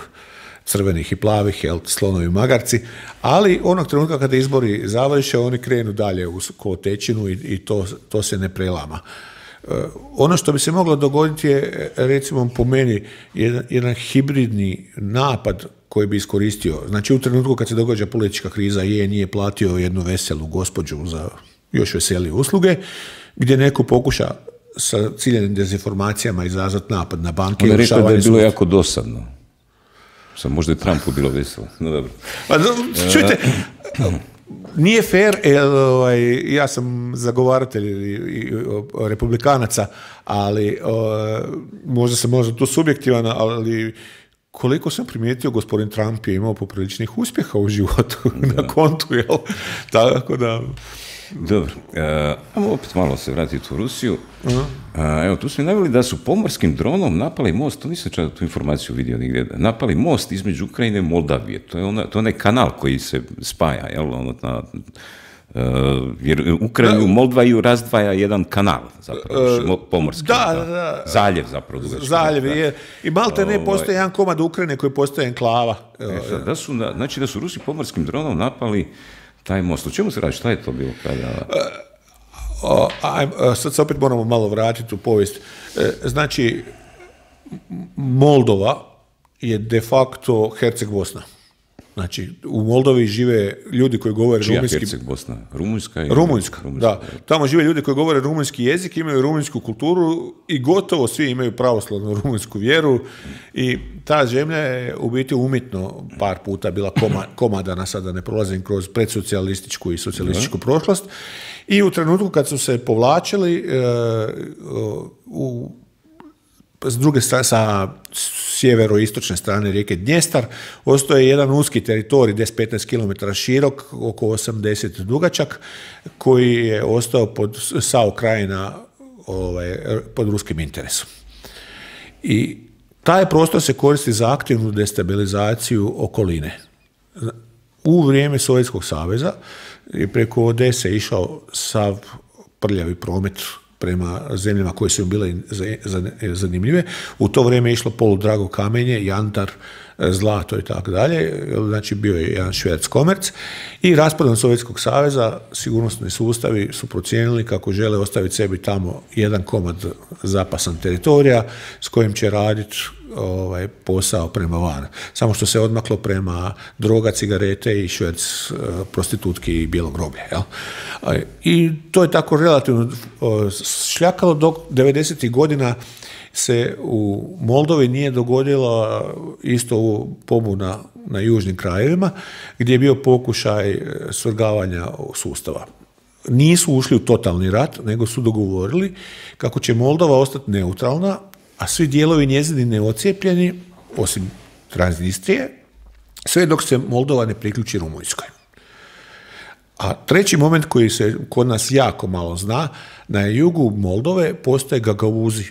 Speaker 3: crvenih i plavih, slonovi i magarci, ali onog trenutka kada izbori završe, oni krenu dalje u kotečinu i to se ne prelama. Ono što bi se moglo dogoditi je, recimo po meni, jedan hibridni napad koji bi iskoristio. Znači, u trenutku kad se događa politička kriza, nije platio jednu veselu gospođu za još veselije usluge, gdje neko pokuša sa ciljenim dezinformacijama izazvati napad na banke.
Speaker 2: On je rekao da je bilo jako dosadno. Sam možda je Trumpu bilo veselo. No dobro.
Speaker 3: Pa, čujte, nije fair, ja sam zagovaratelj republikanaca, ali možda sam tu subjektivan, ali koliko sam primijetio, gospodin Trump je imao popriličnih uspjeha u životu na kontu, jel? Tako da...
Speaker 2: Dobro, ajmo opet malo se vratiti u Rusiju. Evo, tu smo naveli da su pomorskim dronom napali most, to nisam čak tu informaciju vidio nigdje, napali most između Ukrajine i Moldavije. To je onaj kanal koji se spaja, jel? Jer Ukrajinu i Moldaviju razdvaja jedan kanal, zapravo, pomorski.
Speaker 3: Da.
Speaker 2: Zaljev, zapravo.
Speaker 3: Zaljev, je. I malte ne postoji jedan komad Ukrajine koji postoji enklava.
Speaker 2: Znači da su Rusi pomorskim dronom napali taj most. O čemu se radi? Šta je to bilo kada...
Speaker 3: Sad se opet moramo malo vratiti u povijest. Znači, Moldova je de facto Herceg Bosna. Znači, u Moldovi žive ljudi koji govore rumunjski...
Speaker 2: Čija Herceg Bosna?
Speaker 3: Rumunjska, da. Tamo žive ljudi koji govore rumunjski jezik, imaju rumunjsku kulturu i gotovo svi imaju pravoslavnu rumunjsku vjeru i ta zemlja je u biti umjetno par puta bila komadana, sada ne prolazim kroz predsocijalističku i socijalističku prošlost. I u trenutku kad su se povlačili s druge strane, sa sjeveroistočne strane rijeke Dnjestar, ostaje jedan uski teritorij, 10-15 km širok, oko 80 dugačak, koji je ostao pod SAO krajina pod ruskim interesom. I taj prostor se koristi za aktivnu destabilizaciju okoline. U vrijeme Sovjetskog saveza je preko Odese išao sav prljavi promet prema zemljama koje su im bile zanimljive. U to vrijeme je išlo poludrago kamenje, jantar, zlato i tako dalje. Znači bio je jedan šverc komerc i raspadom Sovjetskog saveza sigurnosni sustavi su procijenili kako žele ostaviti sebi tamo jedan komad zapasan teritorija s kojim će raditi posao prema van. Samo što se odmaklo prema droga, cigarete i šverc prostitutki i bijelo groblje. Jel? I to je tako relativno šljakalo dok 90. godina se u Moldovi nije dogodila isto pobuna na južnim krajevima gdje je bio pokušaj svrgavanja sustava. Nisu ušli u totalni rat, nego su dogovorili kako će Moldova ostati neutralna, a svi dijelovi njezini neocijepljeni, osim Transnistrije, sve dok se Moldova ne priključi Rumunjskoj. A treći moment koji se kod nas jako malo zna, na jugu Moldove postoje Gagauzi.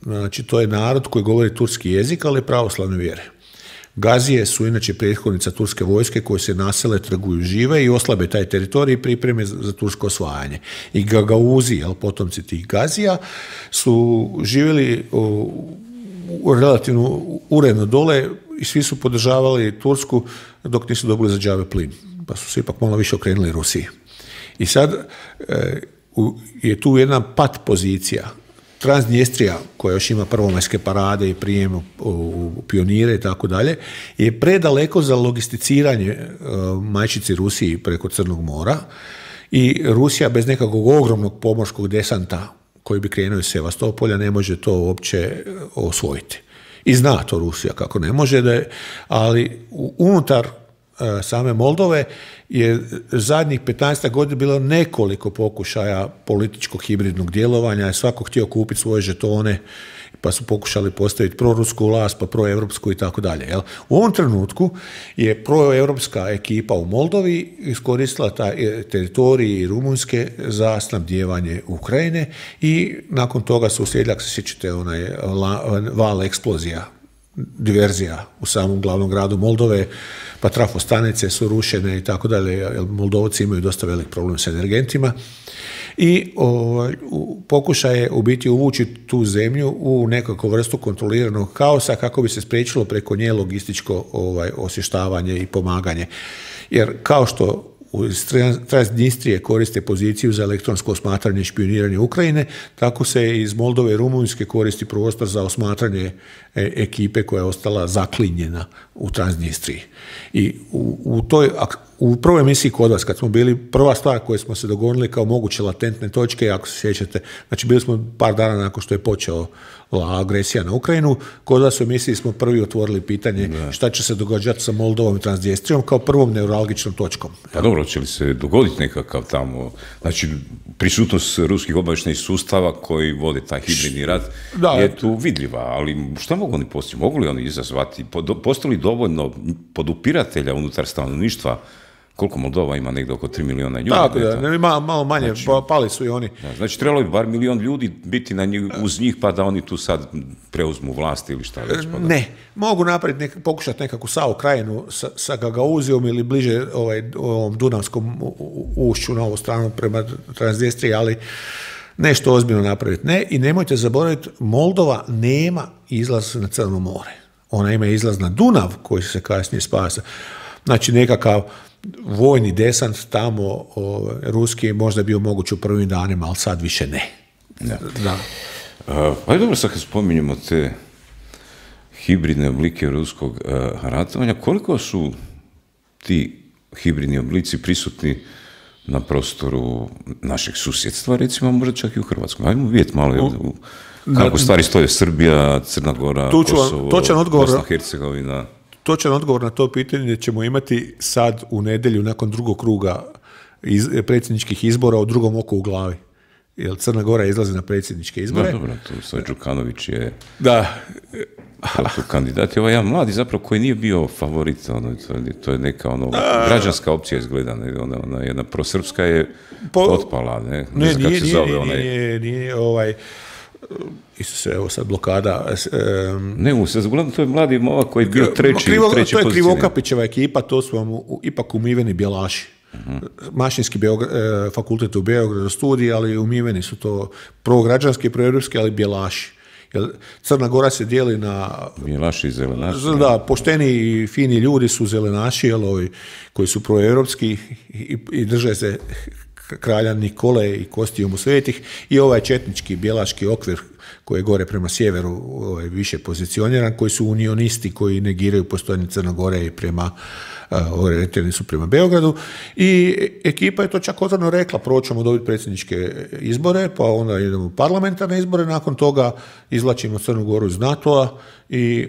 Speaker 3: Znači, to je narod koji govori turski jezik, ali pravoslavne vjere. Gazije su inače prethodnica turske vojske koje se nasele, trguju, žive i oslabe taj teritorij i pripreme za tursko osvajanje. I Gagauzi, potomci tih Gazija, su živjeli relativno uredno dole i svi su podržavali Tursku dok nisu dobili za džabe plin. Pa su se ipak malo više okrenuli Rusiji. I sad je tu jedna pat pozicija Transnjestrija, koja još ima prvomajske parade i prijem u pionire i tako dalje, je predaleko za logisticiranje majčici Rusiji preko Crnog mora i Rusija bez nekakvog ogromnog pomorskog desanta koji bi krenuo iz Sevastopolja ne može to uopće osvojiti. I zna to Rusija kako ne može, ali unutar same Moldove je zadnjih 15 godina bilo nekoliko pokušaja političkog hibridnog djelovanja, svako htio kupiti svoje žetone, pa su pokušali postaviti prorusku vlast, pa proevropsku i tako dalje. U ovom trenutku je proevropska ekipa u Moldovi iskoristila taj teritorij Rumunjske za snabdijevanje Ukrajine i nakon toga su uslijedili, ako se sjećate, onaj val eksplozija, diverzija u samom glavnom gradu Moldove, pa trafostanice su rušene i tako dalje, jer Moldovci imaju dosta velik problem s energentima i pokušaj je u biti uvući tu zemlju u nekakvu vrstu kontroliranog kaosa kako bi se spriječilo preko nje logističko osvještavanje i pomaganje. Jer kao što iz Transnistrije koriste poziciju za elektronsko osmatranje i špioniranje Ukrajine, tako se iz Moldove i Rumunjske koristi prostor za osmatranje ekipe koja je ostala zaklinjena u Transnistriji. I u prvoj emisiji kod vas, kad smo bili, prva stvar koju smo se dogovorili kao moguće latentne točke, ako se sjećate, znači bili smo par dana nakon što je počela agresija na Ukrajinu, kod vas u emisiji smo prvi otvorili pitanje šta će se događati sa Moldovom i Transnistrijom kao prvom neuralgičnom točkom.
Speaker 2: Pa dobro, će li se dogoditi nekakav tamo, znači prisutnost ruskih obavještajnih sustava koji vode taj hibridni rat je tu vidljiva, ali šta mogu oni postići? Mogu li oni izazvati? Postoji li dovoljno podupiratelja unutar stanovništva? Koliko Moldova ima, negdje oko 3 miliona ljudi?
Speaker 3: Tako da, ima malo manje, znači, pali su i oni.
Speaker 2: Znači, trebalo bi bar milion ljudi biti uz njih, pa da oni tu sad preuzmu vlast ili šta već. Pa da...
Speaker 3: Ne, mogu napraviti, pokušati nekakvu Sao Krajinu sa Gagauzijom ili bliže ovom Dunavskom ušću na ovu stranu prema Transnistriji, ali nešto ozbiljno napraviti. Ne, i nemojte zaboraviti, Moldova nema izlaz na Crno more. Ona ima izlaz na Dunav, koji se kasnije spasa. Znači, nekakav vojni desant tamo, ruski je možda bio moguć u prvim danima, ali sad više ne. Da.
Speaker 2: Pa je dobro, sad kad spominjemo te hibridne oblike ruskog ratovanja, koliko su ti hibridni oblici prisutni na prostoru našeg susjedstva, recimo možda čak i u Hrvatskoj? Ajmo vidjeti malo kako stvari stoje Srbija, Crna Gora, Kosovo, Bosna, Hercegovina.
Speaker 3: Točan odgovor na to pitanje ćemo imati sad u nedjelju nakon drugog kruga predsjedničkih izbora u drugom oku u glavi. Jer Crna Gora izlazi na predsjedničke izbore.
Speaker 2: Dobro, tu svoj Đukanović je...
Speaker 3: Da.
Speaker 2: To kandidat je ovaj jedan mladi zapravo koji nije bio favorit. To je neka građanska opcija izgleda. Ona jedna prosrpska je potpala. Ne znam kako se zove onaj...
Speaker 3: Nije Isuse, evo sad blokada.
Speaker 2: Uglavnom to je mladi momak koji je bio treći pozicije.
Speaker 3: To je Krivokapićeva ekipa, to su vam ipak umiveni bjelaši. Mašinski fakultet u Beogradu studij, ali umiveni su to prograđanski, proevropski, ali bjelaši. Jer Crna Gora se dijeli na...
Speaker 2: Bjelaši i zelenaši.
Speaker 3: Da, pošteni i fini ljudi su zelenaši, koji su proevropski i drže se kralja Nikole i kostijumu svetih, i ovaj četnički bjelaški okvir koji je gore prema sjeveru više pozicioniran, koji su unionisti koji negiraju postojanje Crne Gore i orijentirani su prema Beogradu, i ekipa je to čak otvoreno rekla, prvo ćemo dobiti predsjedničke izbore, pa onda idemo u parlamentarne izbore, nakon toga izvlačimo Crnu Goru iz NATO-a i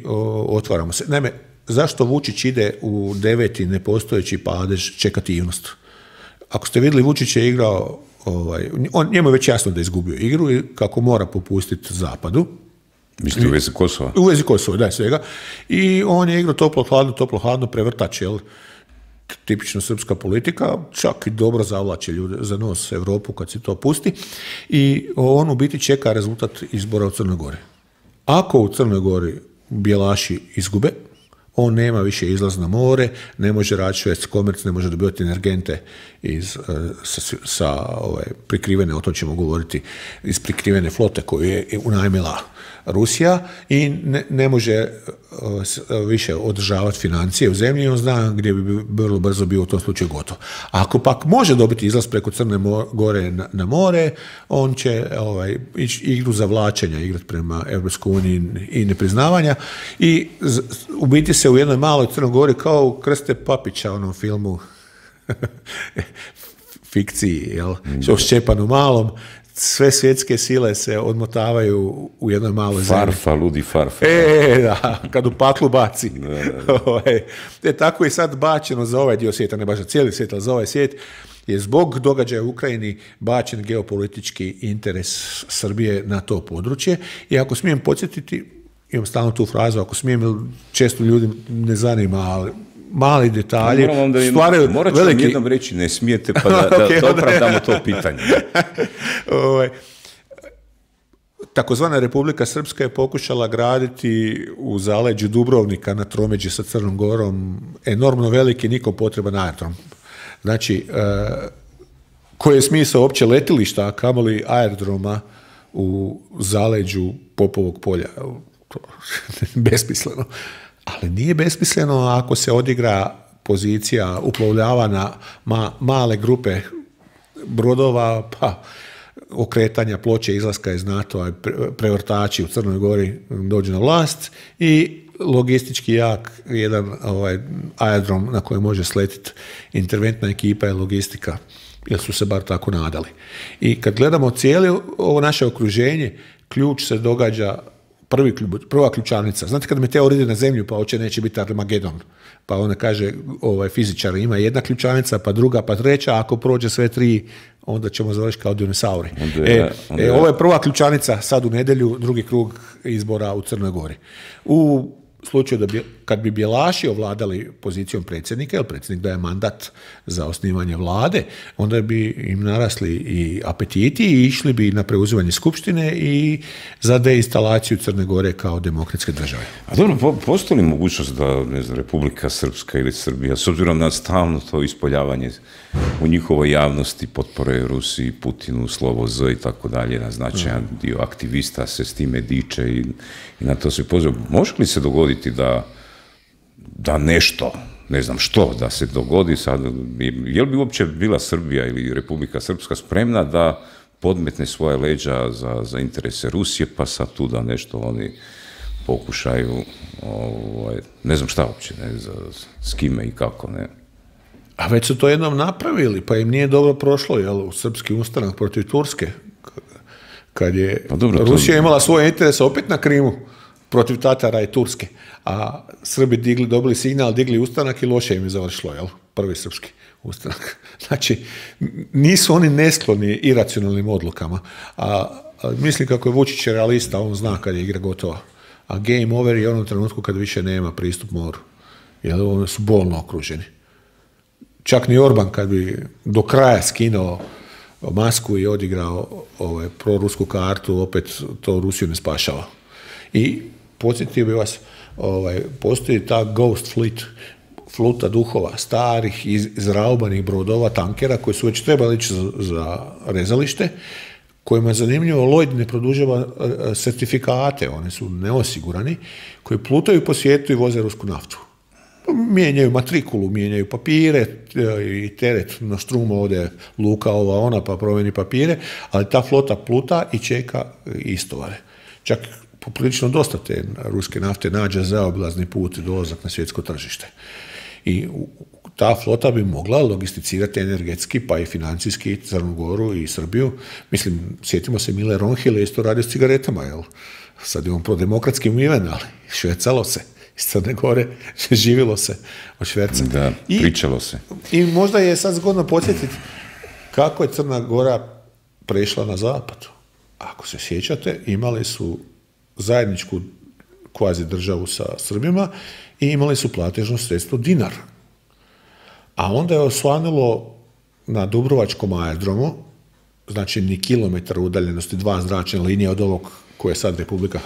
Speaker 3: otvaramo se. Naime, zašto Vučić ide u 9. nepostojeći padež čekativnost? Ako ste vidjeli, Vučić je igrao, njemu je već jasno da je izgubio igru i kako mora popustiti Zapadu.
Speaker 2: Mislite u vezi Kosova?
Speaker 3: U vezi Kosova, da, svega. I on je igrao toplo-hladno prevrtač, tipično srpska politika, čak i dobro zavlače ljude za nos Europu kad se to pusti. I on u biti čeka rezultat izbora u Crnoj Gori. Ako u Crnoj Gori bjelaši izgube, on nema više izlaz na more, ne može raditi švedski komerc, ne može dobivati energente sa prikrivene, o tom ćemo govoriti, iz prikrivene flote koju je unajmila Rusija, i ne može više održavati financije u zemlji, on zna gdje bi vrlo brzo bio u tom slučaju gotov. Ako pak može dobiti izlaz preko Crne Gore na more, on će ići igru zavlačenja igrati prema Europskoj uniji i nepriznavanja i u biti se u jednoj maloj Crnoj Gori kao u Krste Papića, onom filmu fikciji, jel? O Šćepanu Malom, sve svjetske sile se odmotavaju u jednoj maloj zemlji.
Speaker 2: Farfa, ludi farfa.
Speaker 3: Da, kad u paklu baci. Tako je sad bačeno za ovaj dio svijeta, ne baš za cijeli svijet, ali za ovaj svijet je zbog događaja u Ukrajini bačen geopolitički interes Srbije na to područje. I ako smijem podsjetiti, imam stalno tu frazu, ako smijem, često ljudi ne zanima, ali mali detalji stvaraju veliki...
Speaker 2: Morat ću vam jednom reći, ne smijete, pa da opravdamo to pitanje.
Speaker 3: Takozvana Republika Srpska je pokušala graditi u zaleđu Dubrovnika na tromeđi sa Crnom Gorom enormno veliki, nikom potreban aerodrom. Znači, koji je smisao uopće letilišta, a kamoli aerodroma u zaleđu Popovog polja? Besmisleno. Ali nije besmisleno ako se odigra pozicija uplovljavanja male grupe brodova, pa okretanja ploče izlaska iz NATO-a, prevrtači u Crnoj Gori dođu na vlast i logistički jak jedan aerodrom na kojem može sletiti interventna ekipa i logistika, jer su se bar tako nadali. I kad gledamo cijelo ovo naše okruženje, ključ se događa prva ključavnica. Znate kad meteor ide na zemlju, pa hoće neće biti Armagedon. Pa ona kaže, fizičar ima jedna ključavnica, pa druga, pa treća, a ako prođe sve tri, onda ćemo završiti kao dinosauri. Ovo je prva ključavnica sad u nedjelju, drugi krug izbora u Crnoj Gori. U slučaju kad bi Bjelaši ovladali pozicijom predsjednika, jer predsjednik daje mandat za osnivanje vlade, onda bi im narasli i apetiti i išli bi na preuzimanje skupštine i za deinstalaciju Crne Gore kao demokratske države.
Speaker 2: A dobro, postoji li mogućnost da, ne znam, Republika Srpska ili Srbija, s obzirom na stalno to ispoljavanje u njihovoj javnosti, potpore Rusiji, Putinu, slovo Z i tako dalje, na značajan dio aktivista se s time diče i na to se poziva. Može li se dogoditi da nešto, ne znam što, da se dogodi sad, je li bi uopće bila Srbija ili Republika Srpska spremna da podmetne svoje leđa za interese Rusije, pa sad tu da nešto oni pokušaju, ne znam šta uopće, ne, s kime i kako, ne.
Speaker 3: A već su to jednom napravili, pa im nije dobro prošlo, jel, u srpski ustanak protiv Turske, kad je Rusija imala svoje interese opet na Krimu, protiv Tatara i Turske, a Srbi dobili signal, digli ustanak i loše im je završilo, jel? Prvi srpski ustanak. Znači, nisu oni neskloni iracionalnim odlukama, a mislim kako je Vučić realista, on zna kad je igra gotova, a game over je u onom trenutku kad više nema pristup moru, jer oni su bolno okruženi. Čak ni Orban kad bi do kraja skinuo masku i odigrao prorusku kartu, opet to Rusiju ne spašava. I podsjetio bi vas, postoji ta Ghost Fleet, fluta duhova, starih, izraubanih brodova, tankera, koji su već trebali ići za rezalište, kojima je zanimljivo, Lloyd ne produžava certifikate, oni su neosigurani, koji plutaju po svijetu i voze rusku naftu. Mijenjaju matrikulu, mijenjaju papire i teret na štrumu ode luka ova ona pa promijeni papire, ali ta flota pluta i čeka istovare. Čak poprilično dosta te ruske nafte nađe zaobilazni put i dolazak na svjetsko tržište. I ta flota bi mogla logisticirati energetski pa i financijski Crnu Goru i Srbiju. Mislim, sjetimo se Mile Ronhile, isto radio s cigaretama, jel? Sad je on prodemokratski umiven, ali švercalo se. Iz Crne Gore živilo se od šverca.
Speaker 2: Da, pričalo se.
Speaker 3: I možda je sad zgodno podsjetiti kako je Crna Gora prešla na zapad. Ako se sjećate, imali su zajedničku kvazi državu sa Srbima i imali su platežno sredstvo dinar. A onda je osvanulo na Dubrovačkom aerodromu, znači ni kilometar udaljenosti, 2 zračne linije od ovog koje sad Republika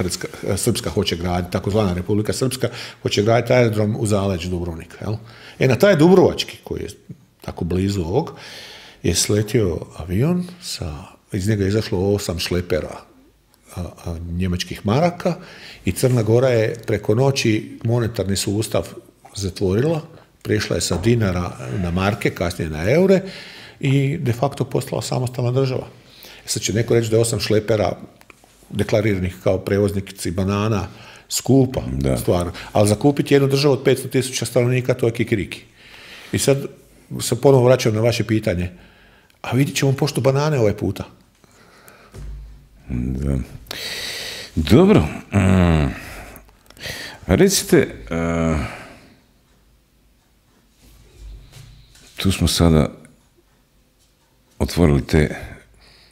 Speaker 3: Srpska hoće graditi, takozvana Republika Srpska, hoće graditi aerodrom u zaleđu Dubrovnika. Jel? Na taj Dubrovački, koji je tako blizu ovog, je sletio avion, iz njega je izašlo 8 šlepera njemačkih maraka i Crna Gora je preko noći monetarni sustav zatvorila, prešla je sa dinara na marke, kasnije na eure i de facto postala samostalna država. Sad će neko reći da je 8 šlepera deklariranih kao prevoznici banana skupa stvar, ali zakupiti jednu državu od 500.000 stanovnika, to je kikiriki. I sad se ponovo vraćam na vaše pitanje, a vidit ćemo pošto banane ovaj puta.
Speaker 2: Da. Dobro. Recite, tu smo sada otvorili te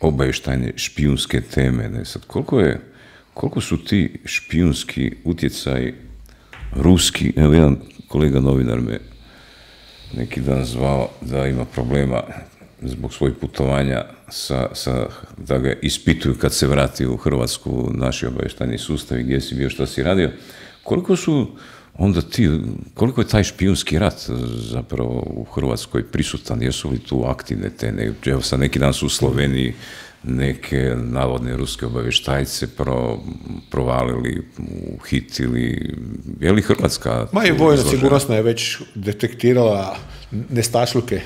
Speaker 2: obavještajne špijunske teme. Ne? Sad, koliko su ti špijunski utjecaji ruski? Evo, jedan kolega novinar me neki dan zvao da ima problema zbog svojih putovanja da ga ispituju kad se vrati u Hrvatsku naši obavještajni sustavi, gdje si bio, što si radio. Koliko je taj špijunski rat zapravo u Hrvatskoj prisutan? Jesu li tu aktivne te? Evo sad neki dan su u Sloveniji neke navodne ruske obavještajce provalili, uhitili. Je li Hrvatska...
Speaker 3: Ma i vojna sigurnosna je već detektirala nestašluke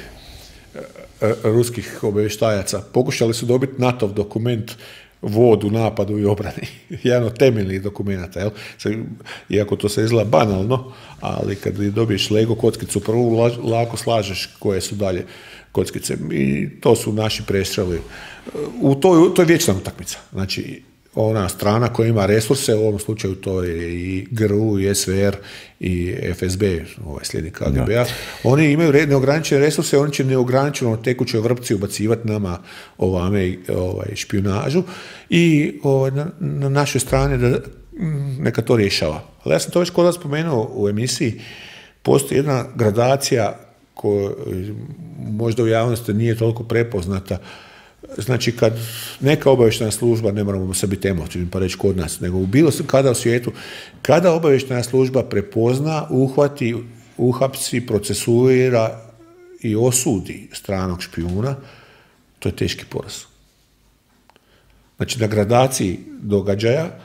Speaker 3: ruskih obavještajaca. Pokušali su dobiti NATO-v dokument vod u napadu i obrani. Jedan od temeljnih dokumenta. Jel? Iako to se izgleda banalno, ali kad dobiješ Lego kockicu prvu, lako slažeš koje su dalje kockice. I to su naši prestreli. To je vječna utakmica. Znači, ona strana koja ima resurse, u ovom slučaju to je i GRU, i SVR, i FSB, slijednik KGB-a, oni imaju neograničene resurse, oni će neograničeno tekućoj vrpci ubacivati nama špijunažu i na našoj strani da neka to rješava. Ali ja sam to već kod vas spomenuo u emisiji, postoji jedna gradacija koja možda u javnosti nije toliko prepoznata. Znači, kad neka obavještajna služba, ne moramo se biti emotivni pa reći kod nas, nego bilo kada u svijetu, kada obavještajna služba prepozna, uhvati, uhapsi, procesuira i osudi stranog špijuna, to je teški poraz. Znači, na gradaciji događaja,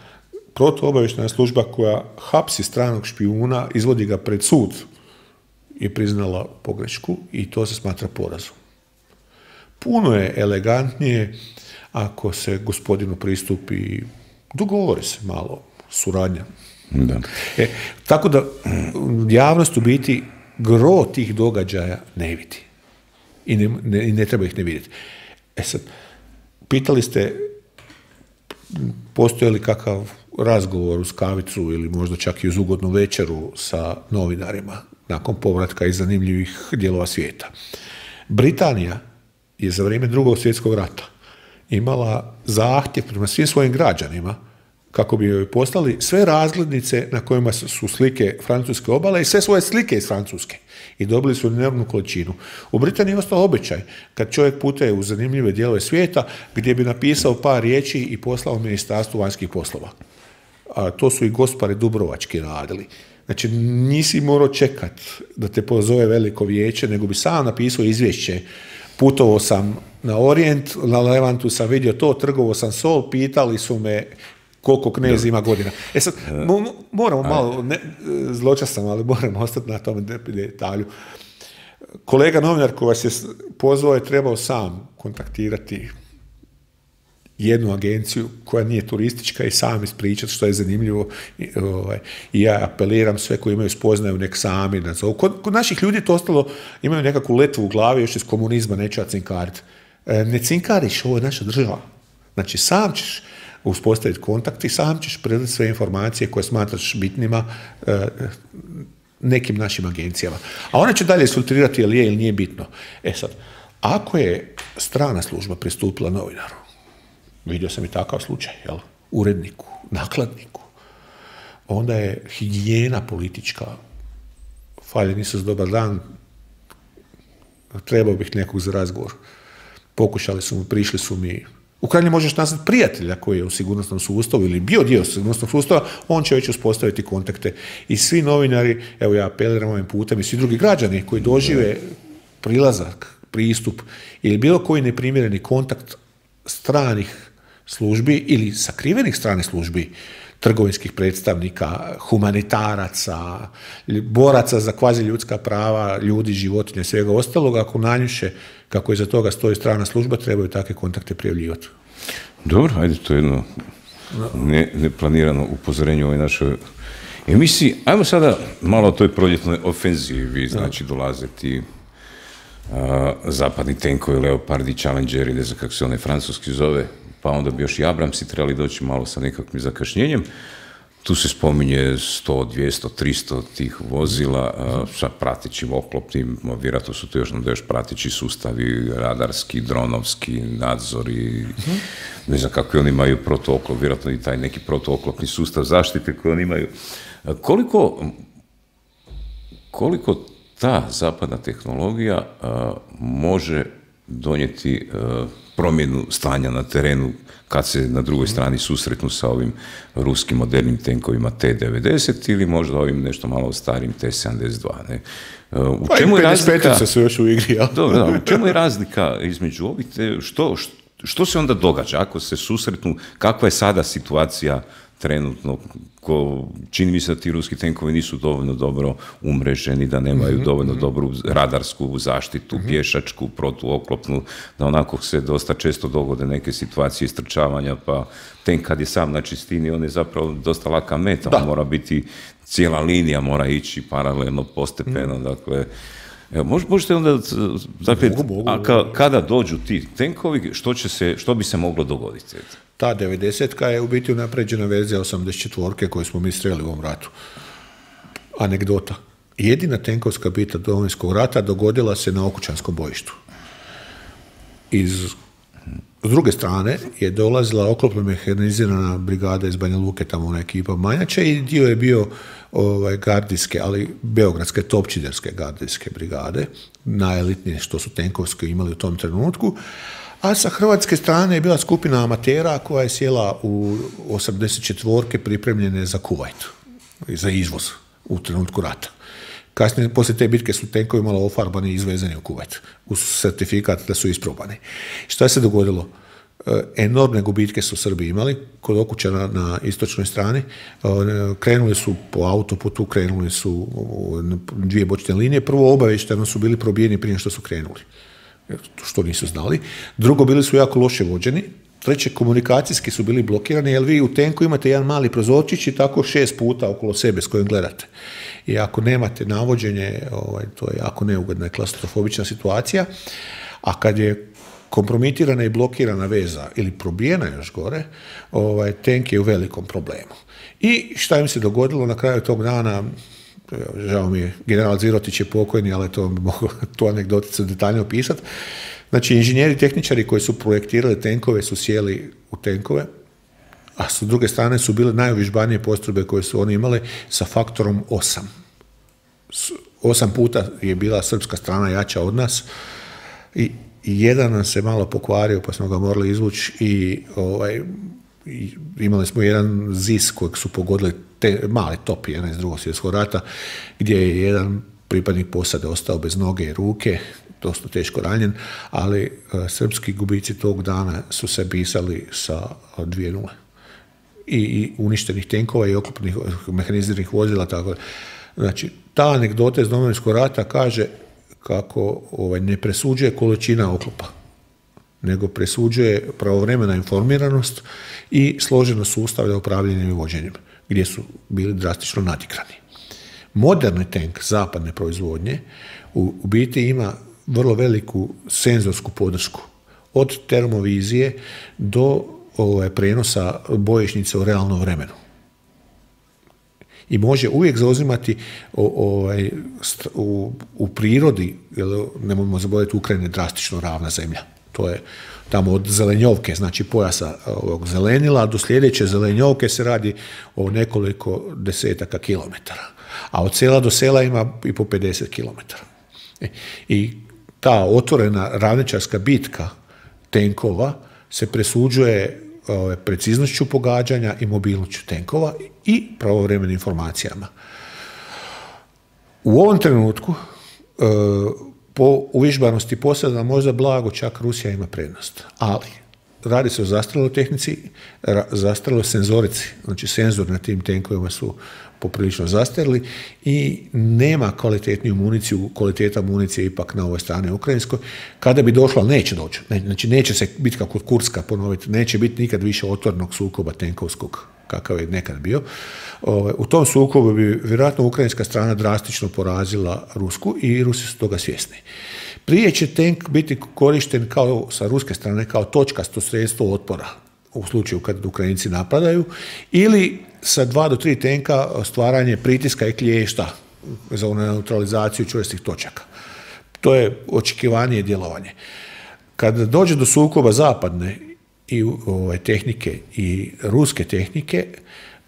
Speaker 3: protuobavještajna služba koja hapsi stranog špijuna, izvodi ga pred sud, je priznala pogrešku i to se smatra porazom. Puno je elegantnije ako se gospodinu pristupi, dogovori se malo, suradnja.
Speaker 2: Da.
Speaker 3: Tako da javnost u biti gro tih događaja ne vidi. I ne treba ih ne vidjeti. Sad, pitali ste postoji li kakav razgovor uz kavicu ili možda čak i uz ugodnu večeru sa novinarima nakon povratka iz zanimljivih dijelova svijeta. Britanija je za vrijeme Drugog svjetskog rata imala zahtjev prema svim svojim građanima kako bi joj poslali sve razglednice na kojima su slike francuske obale i sve svoje slike iz Francuske. I dobili su enormnu količinu. U Britaniji je ostao običaj kad čovjek putuje u zanimljive dijelove svijeta gdje bi napisao par riječi i poslao Ministarstvu vanjskih poslova. A to su i gospari dubrovački radili. Znači, nisi morao čekat da te pozove veliko vijeće, nego bi sam napisao izvješće. Putovao sam na Orijent, na Levantu sam vidio to, trgovao sam sol, pitali su me koliko knez ima godina. Sad, moramo malo, zločastan, ali moramo ostati na tom detalju. Kolega novinar koji vas je pozvao je trebao sam kontaktirati jednu agenciju koja nije turistička i sam ispričati što je zanimljivo. I ja apeliram sve koji imaju spoznaju nek sami nazovu. Kod naših ljudi to ostalo, imaju nekakvu letvu u glavi još iz komunizma, neću ja cinkariti. Ne cinkariš, ovo je naša država. Znači, sam ćeš uspostaviti kontakt i sam ćeš predati sve informacije koje smatraš bitnima nekim našim agencijama. A one će dalje isfiltrirati je li je ili nije bitno. Sad, ako je strana služba pristupila novinaru, vidio sam i takav slučaj, jel? Uredniku, nakladniku, onda je higijena politička, faljeni su s dobar dan, trebao bih nekog za razgovor. Pokušali su mu, prišli su mi. U krajnjem možeš nazvati prijatelja koji je u sigurnosnom sustavu ili bio dio sigurnosnog sustava, on će već uspostaviti kontakte. I svi novinari, evo ja apeliram ovim putem, i svi drugi građani koji dožive prilazak, pristup ili bilo koji neprimjereni kontakt stranih službi ili sakrivenih strane službi, trgovinskih predstavnika, humanitaraca, boraca za kvazi ljudska prava, ljudi, životinje, svega ostalog, ako nanjuše kako iza toga stoji strana služba, trebaju takve kontakte prijavljivati.
Speaker 2: Dobro, ajde, to je jedno neplanirano upozorenje u ovoj našoj emisiji. Ajmo sada malo o toj proljetnoj ofenzivi, znači dolaze ti zapadni tenkovi, Leopardi, Challengeri, ne znam kako se onaj francuski zove, pa onda bi još i Abramsi trebali doći malo sa nekakvim zakašnjenjem. Tu se spominje 100, 200, 300 tih vozila sa pratećim oklopnim, vjerojatno su to još prateći sustavi, radarski, dronovski, nadzori, ne znam kako oni imaju protooklop, vjerojatno i taj neki protooklopni sustav zaštite koji oni imaju. Koliko ta zapadna tehnologija može donijeti promjenu stanja na terenu kad se na drugoj strani susretnu sa ovim ruskim modernim tenkovima T-90 ili možda ovim nešto malo starim T-72. Ne? U čemu je razlika?
Speaker 3: Su još u igri, ja?
Speaker 2: Dobro, u čemu je razlika između ovih? Što se onda događa ako se susretnu? Kakva je sada situacija trenutno? Čini mi se da ti ruski tenkovi nisu dovoljno dobro umreženi, da nemaju dovoljno dobru radarsku zaštitu, pješačku, protuoklopnu, da onako se dosta često dogode neke situacije istrčavanja, pa tenk kad je sam na čistini, on je zapravo dosta laka meta, on mora biti, cijela linija mora ići paralelno, postepeno, dakle, evo, možete onda, dakle, kada dođu ti tenkovi, što bi se moglo dogoditi?
Speaker 3: Ta 90-ka je u biti unapređena verzija 84-ke koju smo mi streli u ovom ratu. Anegdota. Jedina tenkovska bitka Domovinskog rata dogodila se na Okučanskom bojištu. S druge strane je dolazila oklopno mehanizirana brigada iz Banja Luke, tamo ona ekipa Manjača, i dio je bio gardijske, ali beogradske topčiderske gardijske brigade, najelitnije što su tenkovske imali u tom trenutku. A sa hrvatske strane je bila skupina amatera koja je sjela u 84-ke pripremljene za Kuvajt, za izvoz u trenutku rata. Kasnije, poslije te bitke su tenkovi malo ofarbani i izvezeni u Kuvajt, uz certifikat da su isprobani. Šta se dogodilo? Enormne gubitke su Srbi imali kod Okučana na istočnoj strani. Krenuli su po autoputu, krenuli su dvije bočne linije. Prvo, obavešteno su bili probijeni prije što su krenuli, što nisu znali. Drugo, bili su jako loše vođeni. Treće, komunikacijski su bili blokirani, jer vi u tenku imate jedan mali prozorčić i tako 6 puta okolo sebe s kojim gledate. I ako nemate navođenje, to je jako neugodna i klaustrofobična situacija. A kad je kompromitirana i blokirana veza ili probijena još gore, tenk je u velikom problemu. I šta im se dogodilo na kraju tog dana? Žao mi je, general Zirotić je pokojni, ali to bi mogu tu anegdoticu detaljno opisati. Znači, inženjeri, tehničari koji su projektirali tenkove su sjeli u tenkove, a s druge strane su bile najuvježbanije postrojbe koje su oni imali sa faktorom 8. 8 puta je bila srpska strana jača od nas i jedan nam se malo pokvario, pa smo ga morali izvući i imali smo jedan ZIS kojeg su pogodili mali top jedan iz Drugog svjetskog rata, gdje je jedan pripadnik posade ostao bez noge i ruke, dosta teško ranjen, ali srpski gubici tog dana su se pisali sa 2-0. I uništenih tenkova i oklopnih mehaniziranih vozila, tako. Znači, ta anegdota iz Domovinskog rata kaže kako ne presuđuje količina oklopa, nego presuđuje pravovremena informiranost i složenost sustava upravljanjem i vođenjem, gdje su bili drastično nadigrani. Moderni tenk zapadne proizvodnje u biti ima vrlo veliku senzorsku podršku, od termovizije do prenosa bojišnice u realnom vremenu. I može uvijek zauzimati u prirodi, jer nemojmo zaboraviti, Ukrajina je drastično ravna zemlja. To je tamo od zelenjovke, znači pojasa ovog zelenila, do sljedeće zelenjovke se radi o nekoliko desetaka kilometara. A od sela do sela ima i po 50 kilometara. I ta otvorena ravničarska bitka tenkova se presuđuje preciznošću pogađanja i mobilnošću tenkova i pravovremenim informacijama. U ovom trenutku po uvježbanosti posada možda blago čak Rusija ima prednost, ali radi se o zastarjeloj tehnici, zastarjeloj senzorici, znači senzor na tim tenkovima su poprilično zastarjeli i nema kvalitetniju municiju, kvaliteta municije ipak na ovoj strani ukrajinskoj. Kada bi došlo, ali neće doći, znači neće se biti kako kod Kurska ponoviti, neće biti nikad više otvornog sukoba tenkovskog kakav je nekad bio. U tom sukobu bi vjerojatno ukrajinska strana drastično porazila rusku i Rusi su toga svjesni. Prije će tank biti korišten kao sa ruske strane kao točkasto sredstvo otpora u slučaju kad Ukrajinci napadaju ili sa 2 do 3 tenka stvaranje pritiska i klješta za neutralizaciju čvrstih točaka. To je očekivanje djelovanje. Kad dođe do sukoba zapadne i tehnike i ruske tehnike,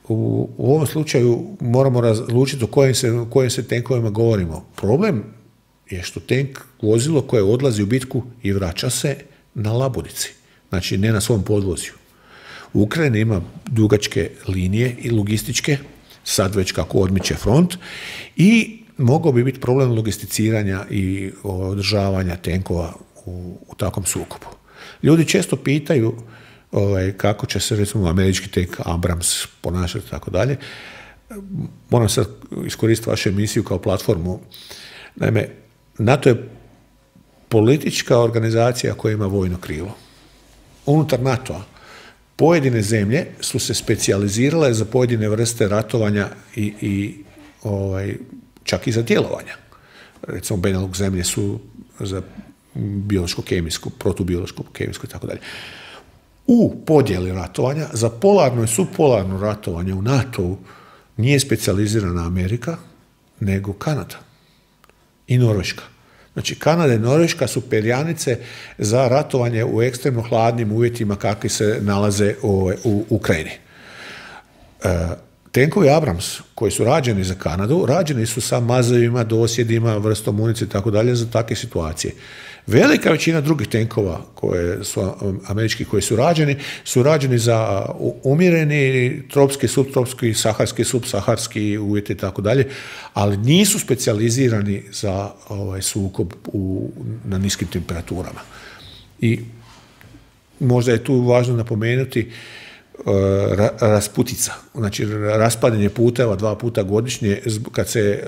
Speaker 3: u ovom slučaju moramo razlučiti o kojim se tenkovima govorimo. Problem je što tank vozilo koje odlazi u bitku i vraća se na laburici, znači ne na svom podvozju. Ukrajina ima dugačke linije i logističke, sad već kako odmiče front, i mogao bi biti problem logisticiranja i održavanja tenkova u takvom sukobu. Ljudi često pitaju kako će se recimo američki tank Abrams ponašati i tako dalje. Moram sad iskoristiti vašu emisiju kao platformu. Naime, NATO je politička organizacija koja ima vojno krilo. Unutar NATO-a pojedine zemlje su se specijalizirale za pojedine vrste ratovanja i čak i za djelovanja. Recimo, Benelux zemlje su za biološko-kemijsku, protubiološko-kemijsku i tako dalje. U podjeli ratovanja, za polarno i subpolarno ratovanje u NATO-u nije specijalizirana Amerika, nego Kanada i Norveška. Znači, Kanada i Norveška su perjanice za ratovanje u ekstremno hladnim uvjetima kakvi se nalaze u Ukrajini. Tenkovi Abrams koji su rađeni za Kanadu, rađeni su sa mazevima, dosjedima, vrstom municije i tako dalje za takve situacije. Velika većina drugih tenkova američkih koji su rađeni za umjereni tropski, subtropski, saharski, subsaharski uvjeti i tako dalje, ali nisu specijalizirani za sukob na niskim temperaturama. I možda je tu važno napomenuti rasputica, znači raspadanje puteva 2 puta godišnje kad se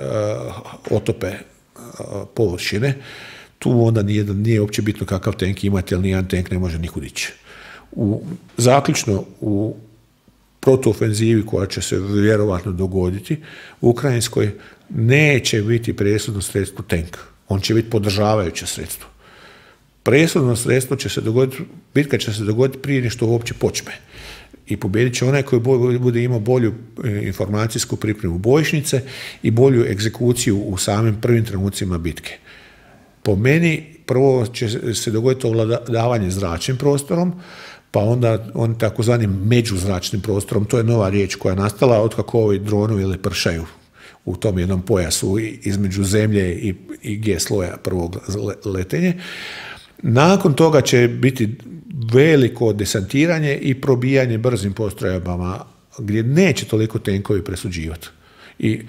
Speaker 3: otope površine. Tu onda nije uopće bitno kakav tank imate, jer nijedan tank ne može nikud ići. Zaključno, u protuofenzivi koja će se vjerovatno dogoditi, u Ukrajinskoj neće biti presudno sredstvo tank. On će biti podržavajuće sredstvo. Presudno sredstvo će se dogoditi, bitka će se dogoditi prije nego što uopće počne. I pobijedit će onaj koji bude imao bolju informacijsku pripremu bojišnice i bolju egzekuciju u samim prvim trenucima bitke. Po meni, prvo će se dogoditi ovladavanje zračnim prostorom, pa onda on takozvanim međuzračnim prostorom, to je nova riječ koja je nastala otkako ovi dronovi lepršaju u tom jednom pojasu između zemlje i G sloja prvog letenje. Nakon toga će biti veliko desantiranje i probijanje brzim postrojbama gdje neće toliko tenkovi presuđivati. I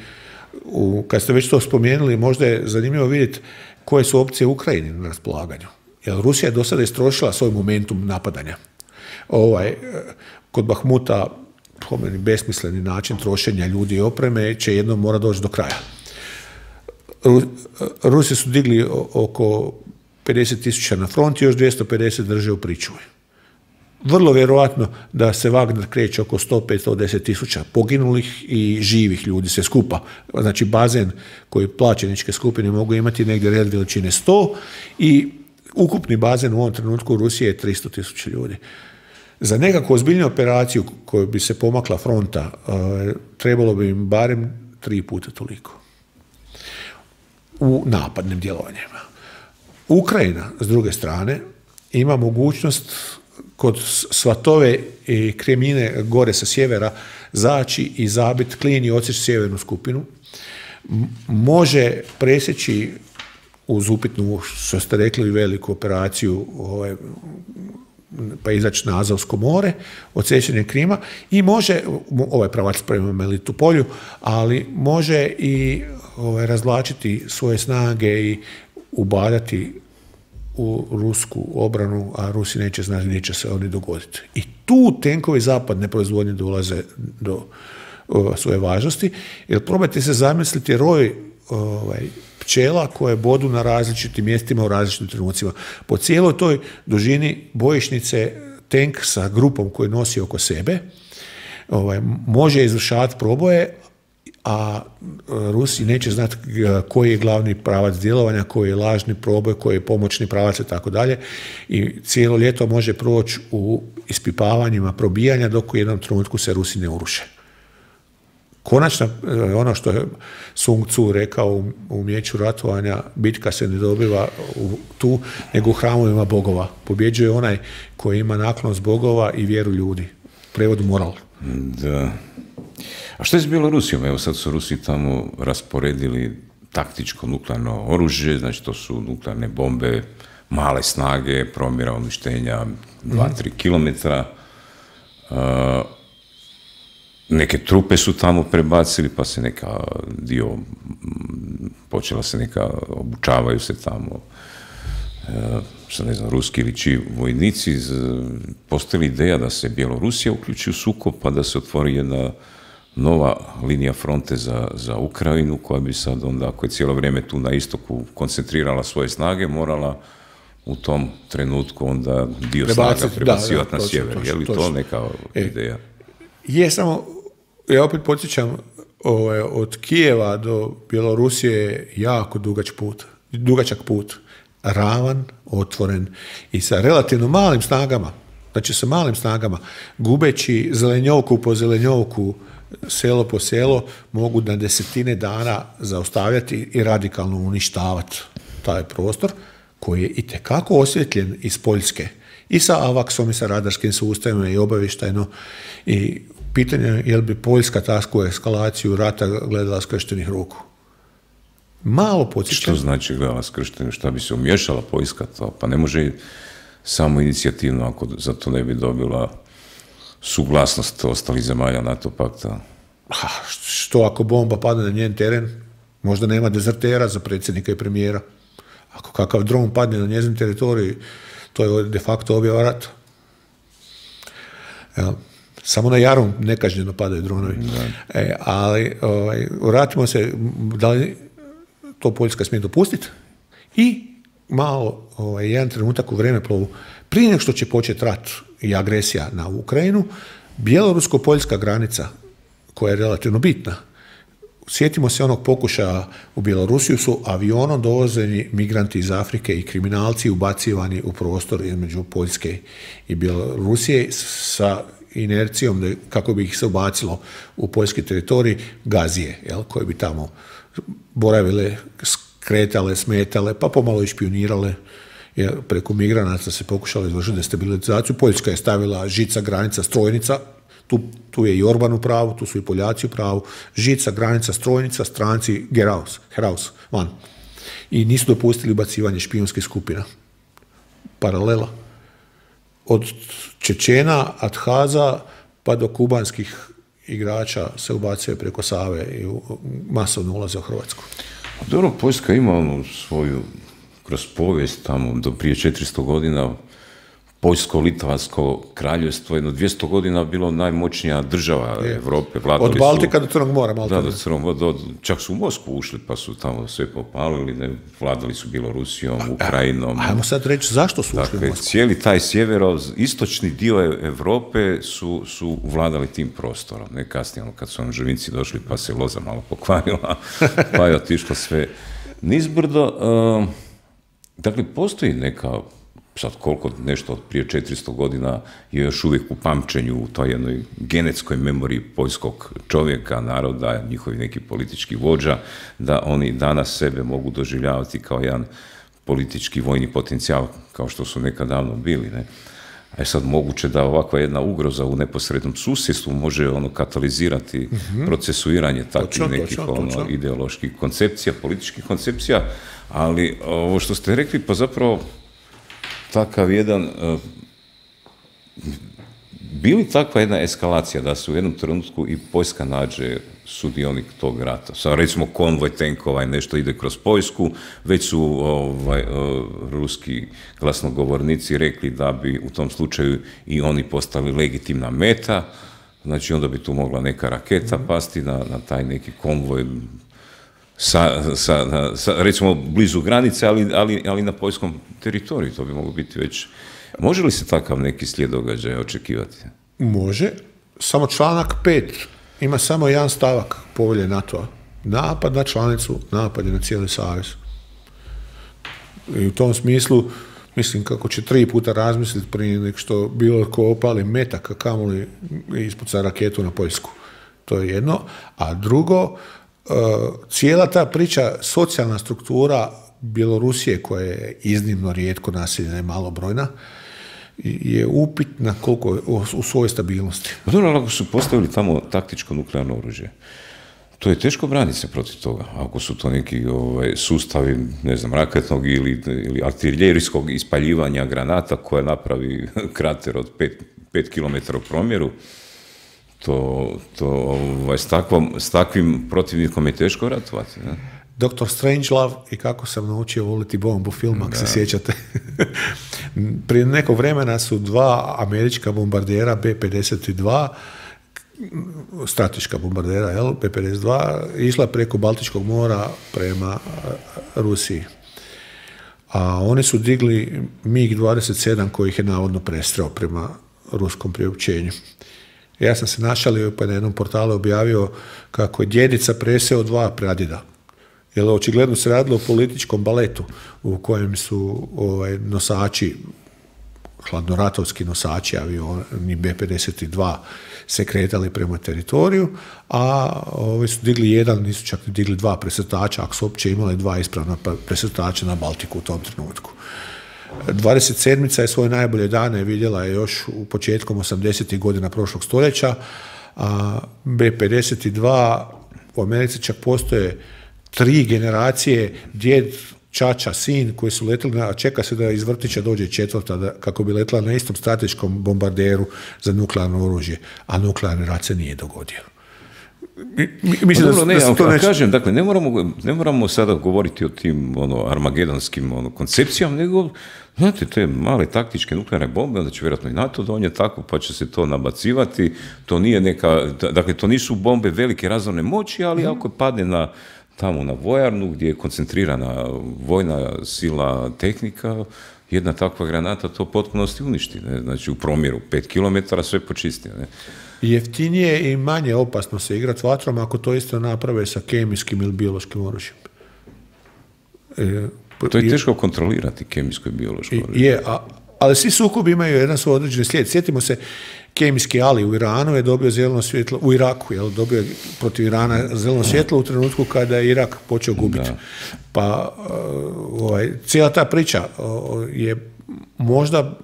Speaker 3: kad ste već to spomenuli, možda je zanimljivo vidjeti koje su opcije Ukrajini na raspolaganju. Jer Rusija je do sada istrošila svoj momentum napadanja. Kod Bahmuta, po meni besmisleni način trošenja ljudi i opreme, će jednom mora doći do kraja. Rusi su digli oko 50.000 na front i još 250 drže u pričuvi. Vrlo vjerojatno da se Wagner kreće oko 100-110.000 poginulih i živih ljudi sve skupa. Znači bazen koji plaćeničke skupine mogu imati negdje red veličine 100 i ukupni bazen u ovom trenutku u Rusiji je 300.000 ljudi. Za nekakvu ozbiljnu operaciju koju bi se pomakla fronta trebalo bi im barem 3 puta toliko u napadnim djelovanjima. Ukrajina, s druge strane, ima mogućnost kod Svatove i Kremine gore sa sjevera zaći i zabiti klin i odsjeći sjevernu skupinu. Može presjeći uz upitnu, što ste rekli, veliku operaciju pa izaći na Azovsko more, odsjećanje Krima i može, ovaj pravac prema Melitopolju, ali može i razvlačiti svoje snage i ubadati u rusku obranu, a Rusi neće znati gdje će se oni dogoditi. I tu tenkovi zapadne proizvodnje dolaze do svoje važnosti, jer probajte se zamisliti roj pčela koje bodu na različitim mjestima u različitim trenucima. Po cijeloj toj dužini bojišnice tank sa grupom koju nosi oko sebe može izvršavati proboje, a Rusi neće znati koji je glavni pravac djelovanja, koji je lažni proboj, koji je pomoćni pravac i tako dalje. I cijelo ljeto može proći u ispipavanjima probijanja dok u jednom trenutku se Rusi ne uruše. Konačno, ono što je Sun Tzu rekao u umijeću ratovanja, bitka se ne dobiva tu, nego u hramovima bogova. Pobjeđuje onaj koji ima naklonost bogova i vjeru ljudi. Prevod moral.
Speaker 2: Da. A što je s Bjelorusijom? Evo sad su Rusi tamo rasporedili taktičko nuklearno oružje, znači to su nuklearne bombe, male snage, promjera uništenja 2-3 kilometra. Neke trupe su tamo prebacili, pa se neka počela se neka, obučavaju se tamo, što ne znam, ruski ili čiji vojnici. Postoji ideja da se Bjelorusija uključi u sukob, pa da se otvori jedna nova linija fronte za Ukrajinu, koja bi sad onda, ako je cijelo vrijeme tu na istoku koncentrirala svoje snage, morala u tom trenutku onda dio snaga prebacivati na sjever. Je li to neka ideja?
Speaker 3: Je, samo ja opet podsjećam, od Kijeva do Bjelorusije je jako dugačak put, ravan, otvoren i sa relativno malim snagama, znači sa malim snagama, gubeći zelenjovku po zelenjovku, selo po selo, mogu na desetine dana zaustavljati i radikalno uništavati taj prostor koji je itekako osvjetljen iz Poljske i sa AWACS-om i sa radarskim sustavima i obavještajno. I pitanje je je li bi Poljska takvu eskalaciju rata gledala skrštenih ruku. Malo podsjećam.
Speaker 2: Što znači gledala skrštenih? Šta bi se umješala Poljska to? Pa ne može samo inicijativno ako za to ne bi dobila suglasnost ostalih zemalja NATO pakta.
Speaker 3: Što ako bomba padne na njen teren? Možda nema dezertera za predsjednika i premijera. Ako kakav dron padne na njezin teritorij, to je de facto objava rata. Samo na Jarum nekažnjeno padaju dronovi. Ali vratimo se, da li to Poljska smije dopustiti? I malo, jedan trenutak u vremeplovu, prije nego što će početi rat i agresija na Ukrajinu, bjelorusko-poljska granica, koja je relativno bitna. Sjetimo se onog pokušaja u Bjelorusiju, su avionom dovozeni migranti iz Afrike i kriminalci ubacivani u prostor između Poljske i Bjelorusije sa inercijom kako bi ih se ubacilo u poljski teritorij gazije, koje bi tamo boravile, skretale, smetale, pa pomalo i špionirale. Preko migranata se pokušalo izvršiti destabilizaciju. Poljska je stavila žica, granica, strojnica. Tu je i Orban u pravu, tu su i Poljaci u pravu. Žica, granica, strojnica, stranci, heraus, van. I nisu dopustili ubacivanje špijunskih skupina. Paralela. Od Čečena, Adhaza, pa do kubanskih igrača se ubacuje preko Save i masovno ulaze u Hrvatsku.
Speaker 2: Dobro, Poljska ima svoju, kroz povijest tamo do prije 400 godina, Poljsko-Litvansko kraljevstvo, jedno 200 godina bilo najmoćnija država Europe.
Speaker 3: Od Baltika do Crnog mora.
Speaker 2: Da, do Crnog mora. Čak su u Moskvu ušli, pa su tamo sve popalili, vladali su Bjelorusijom, Ukrajinom.
Speaker 3: Ajmo sad reći zašto su ušli u Moskvu.
Speaker 2: Cijeli taj sjeveroistočni dio Europe su vladali tim prostorom. Ne kasnije, kad su Ževinci došli, pa se loza malo pokvarila, pa je otišlo sve nizbrdo. Dakle, postoji neka, sad koliko nešto od prije 400 godina je još uvijek u pamćenju u toj jednoj genetskoj memoriji poljskog čovjeka, naroda, njihovi neki politički vođa, da oni danas sebe mogu doživljavati kao jedan politički vojni potencijal, kao što su nekad davno bili. Ne? A je sad moguće da ovakva jedna ugroza u neposrednom susjedstvu može katalizirati procesuiranje takvih nekih ideoloških koncepcija, političkih koncepcija, ali ovo što ste rekli, pa zapravo takav jedan bili takva jedna eskalacija da se u jednom trenutku i Poljska nađe sudionik tog rata? Sad recimo konvoj tenkova i nešto ide kroz Poljsku, već su ruski glasnogovornici rekli da bi u tom slučaju i oni postali legitimna meta, znači onda bi tu mogla neka raketa pasti na taj neki konvoj recimo blizu granice, ali na poljskom teritoriju, to bi moglo biti već. Može li se takav neki slijed događaja očekivati?
Speaker 3: Može, samo članak 5 ima samo jedan stavak povelje NATO-a. Napad na članicu, napad je na cijeli savez. I u tom smislu, mislim kako će 3 puta razmisliti prije nek što bilo ko opali metak, a kamoli ispuca raketu na Poljsku. To je jedno. A drugo, cijela ta priča, socijalna struktura Bjelorusije, koja je iznimno rijetko naseljena i malobrojna, je upitna koliko u svojoj stabilnosti.
Speaker 2: Dobro, ako su postavili tamo taktičko nuklearno oružje, to je teško braniti se protiv toga. Ako su to neki sustavi, ne znam, raketnog ili artiljerijskog ispaljivanja granata koja napravi krater od 5 km u promjeru, s takvim protivnikom je teško ratovati. Ne?
Speaker 3: Dr. Strangelove i kako sam naučio voliti bombu film, ako se sjećate. Prije nekog vremena su 2 američka bombardera B-52, strateška bombardera, B-52, išla preko Baltičkog mora prema Rusiji. A oni su digli MiG-27 koji ih je navodno prestreo prema ruskom priopćenju. Ja sam se našalio pa na jednom portalu objavio kako je djedica preseo 2 pradjeda. Jer očigledno se radilo o političkom baletu u kojem su nosači, hladnoratovski nosači avioni B-52 se kretali prema teritoriju, a ovi su digli jedan, nisu čak digli 2 presretača, ako su uopće imali 2 ispravna presretača na Baltiku u tom trenutku. 27. je svoje najbolje dane vidjela je još u početkom 80. godina prošlog stoljeća, a B-52 u Americi čak postoje 3 generacije, djed, čača, sin, koji su letili, a čeka se da iz vrtića dođe 4. kako bi letila na istom strateškom bombarderu za nuklearno oružje, a nuklearni rat se nije dogodio. Mislim
Speaker 2: kažem, dakle, ne moramo sada govoriti o tim armagedonskim koncepcijama, nego, znate, te male taktičke nuklearne bombe, onda će vjerojatno i NATO donijeti tako, pa će se to nabacivati, to nije dakle, to nisu bombe velike razorne moći, ali ako padne tamo na vojarnu, gdje je koncentrirana vojna sila, tehnika, jedna takva granata to potpunosti uništi, ne? Znači u promjeru 5 km sve počisti. Ne?
Speaker 3: Jeftinije i manje opasno se igrati vatrom ako to isto naprave sa kemijskim ili biološkim oružjem.
Speaker 2: To je teško kontrolirati, kemijsko i biološko oružje.
Speaker 3: Ali svi sukobi imaju jedan svoj određeni slijed. Sjetimo se, kemijski Ali u Iranu je dobio zeleno svjetlo, u Iraku je dobio protiv Irana zeleno svjetlo u trenutku kada je Irak počeo gubiti. Pa cijela ta priča je možda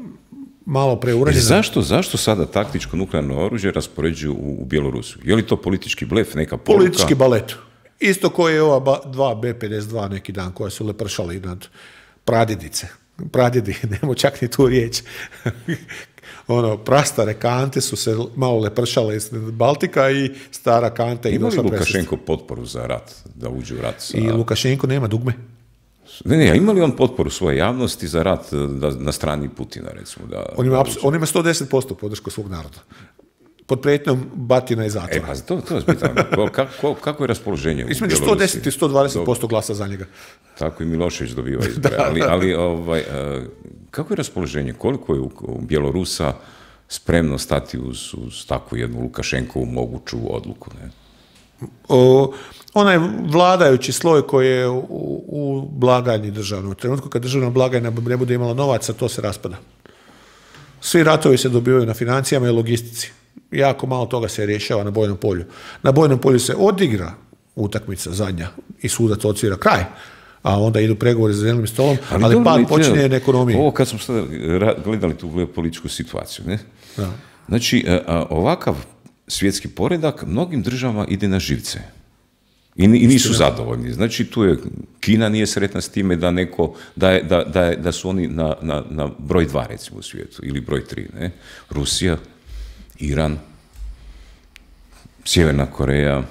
Speaker 3: malo preuranjena.
Speaker 2: Zašto sada taktičko nuklearno oružje raspoređuju u Bjelorusiju? Je li to politički blef, neka poruka?
Speaker 3: Politički balet. Isto koji je ova 2 B-52 neki dan koja su lepršali nad pradjedice. Pradjedi, nemo čak ni tu riječ. Prastare kante su se malo lepršale iz Baltika i stara kanta i došla presjeti.
Speaker 2: Ima li Lukašenko potporu za rat, da uđe u rat?
Speaker 3: I Lukašenko nema dugme.
Speaker 2: Ne, ima li on potporu svoje javnosti za rat na strani Putina, recimo?
Speaker 3: On ima 110% podršku svog naroda. Pod prijetnjom batina i zatvora.
Speaker 2: To je pitanje. Kako je raspoloženje u
Speaker 3: Između 110 i 120% glasa za njega.
Speaker 2: Tako i Milošević dobiva izbore. Ali kako je raspoloženje? Koliko je u Bjelorusa spremno stati uz takvu jednu Lukašenkovu moguću odluku? Ne?
Speaker 3: Onaj vladajući sloj koji je u blagajni državnom. U trenutku kad državna blagajna ne bude imala novaca, to se raspada. Svi ratovi se dobivaju na financijama i logistici. Jako malo toga se rješava na bojnom polju. Na bojnom polju se odigra utakmica zadnja i sudac odsvira kraj, a onda idu pregovori za zelenim stolom, ali pad počinje na ekonomiji.
Speaker 2: Ovo kad smo sada gledali tu političku situaciju, ne? Da. Znači, ovakav svjetski poredak mnogim državama ide na živce. I nisu zadovoljni. Znači, tu je Kina nije sretna s time da su oni na broj 2, recimo, u svijetu, ili broj 3, ne? Rusija Iran, Sjeverna Koreja,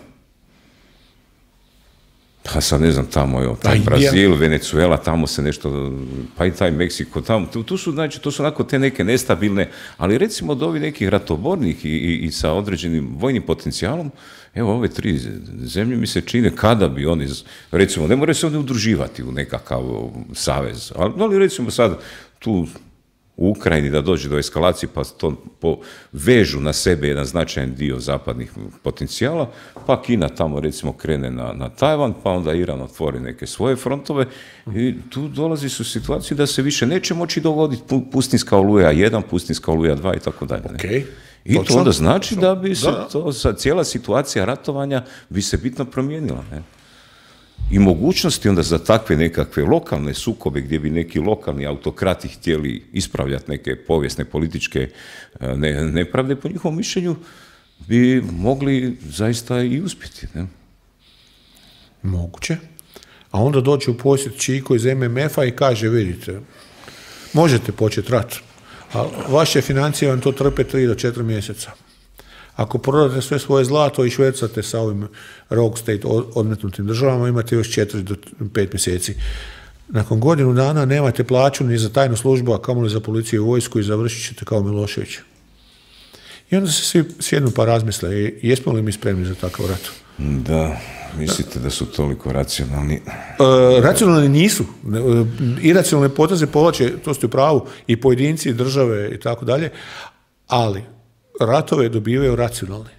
Speaker 2: pa sad ne znam, tamo je taj Brazil, Venezuela, tamo se nešto, pa i taj Meksiko, tamo, tu su, znači, to su onako te neke nestabilne, ali recimo od ovih nekih ratobornih i sa određenim vojnim potencijalom, evo ove 3 zemlje mi se čine kada bi oni, recimo, ne moraju se oni udruživati u nekakav savez, ali recimo sad tu u Ukrajini da dođe do eskalacije pa to vežu na sebe jedan značajan dio zapadnih potencijala, pa Kina tamo recimo krene na Tajvan, pa onda Iran otvori neke svoje frontove i tu dolazi su situaciju da se više neće moći dogoditi pustinska oluja 1, pustinska oluja 2 i tako dalje.
Speaker 3: Okay.
Speaker 2: I to onda znači da bi se cijela situacija ratovanja bi se bitno promijenila. Ne? I mogućnosti onda za takve nekakve lokalne sukobe gdje bi neki lokalni autokrati htjeli ispravljati neke povijesne političke nepravde, po njihovom mišljenju bi mogli zaista i uspjeti. Ne?
Speaker 3: Moguće. A onda doći u posjet Čiko iz MMF-a i kaže, vidite, možete početi rat, a vaše financije vam to trpe 3 do 4 mjeseca. Ako prodate sve svoje zlato i švercate sa ovim rogue state odmetnutim državama, imate još 4 do 5 mjeseci. Nakon godinu dana nemate plaću ni za tajnu službu, a kamoli za policiju i vojsku i završit ćete kao Milošević. I onda se svi sjednu pa razmisle, jesmo li mi spremni za takav rat?
Speaker 2: Da, mislite da su toliko racionalni?
Speaker 3: Racionalni nisu. Iracionalne poteze povlače, to ste u pravu, i pojedinci, i države i tako dalje, ali ratove dobivaju racionalni.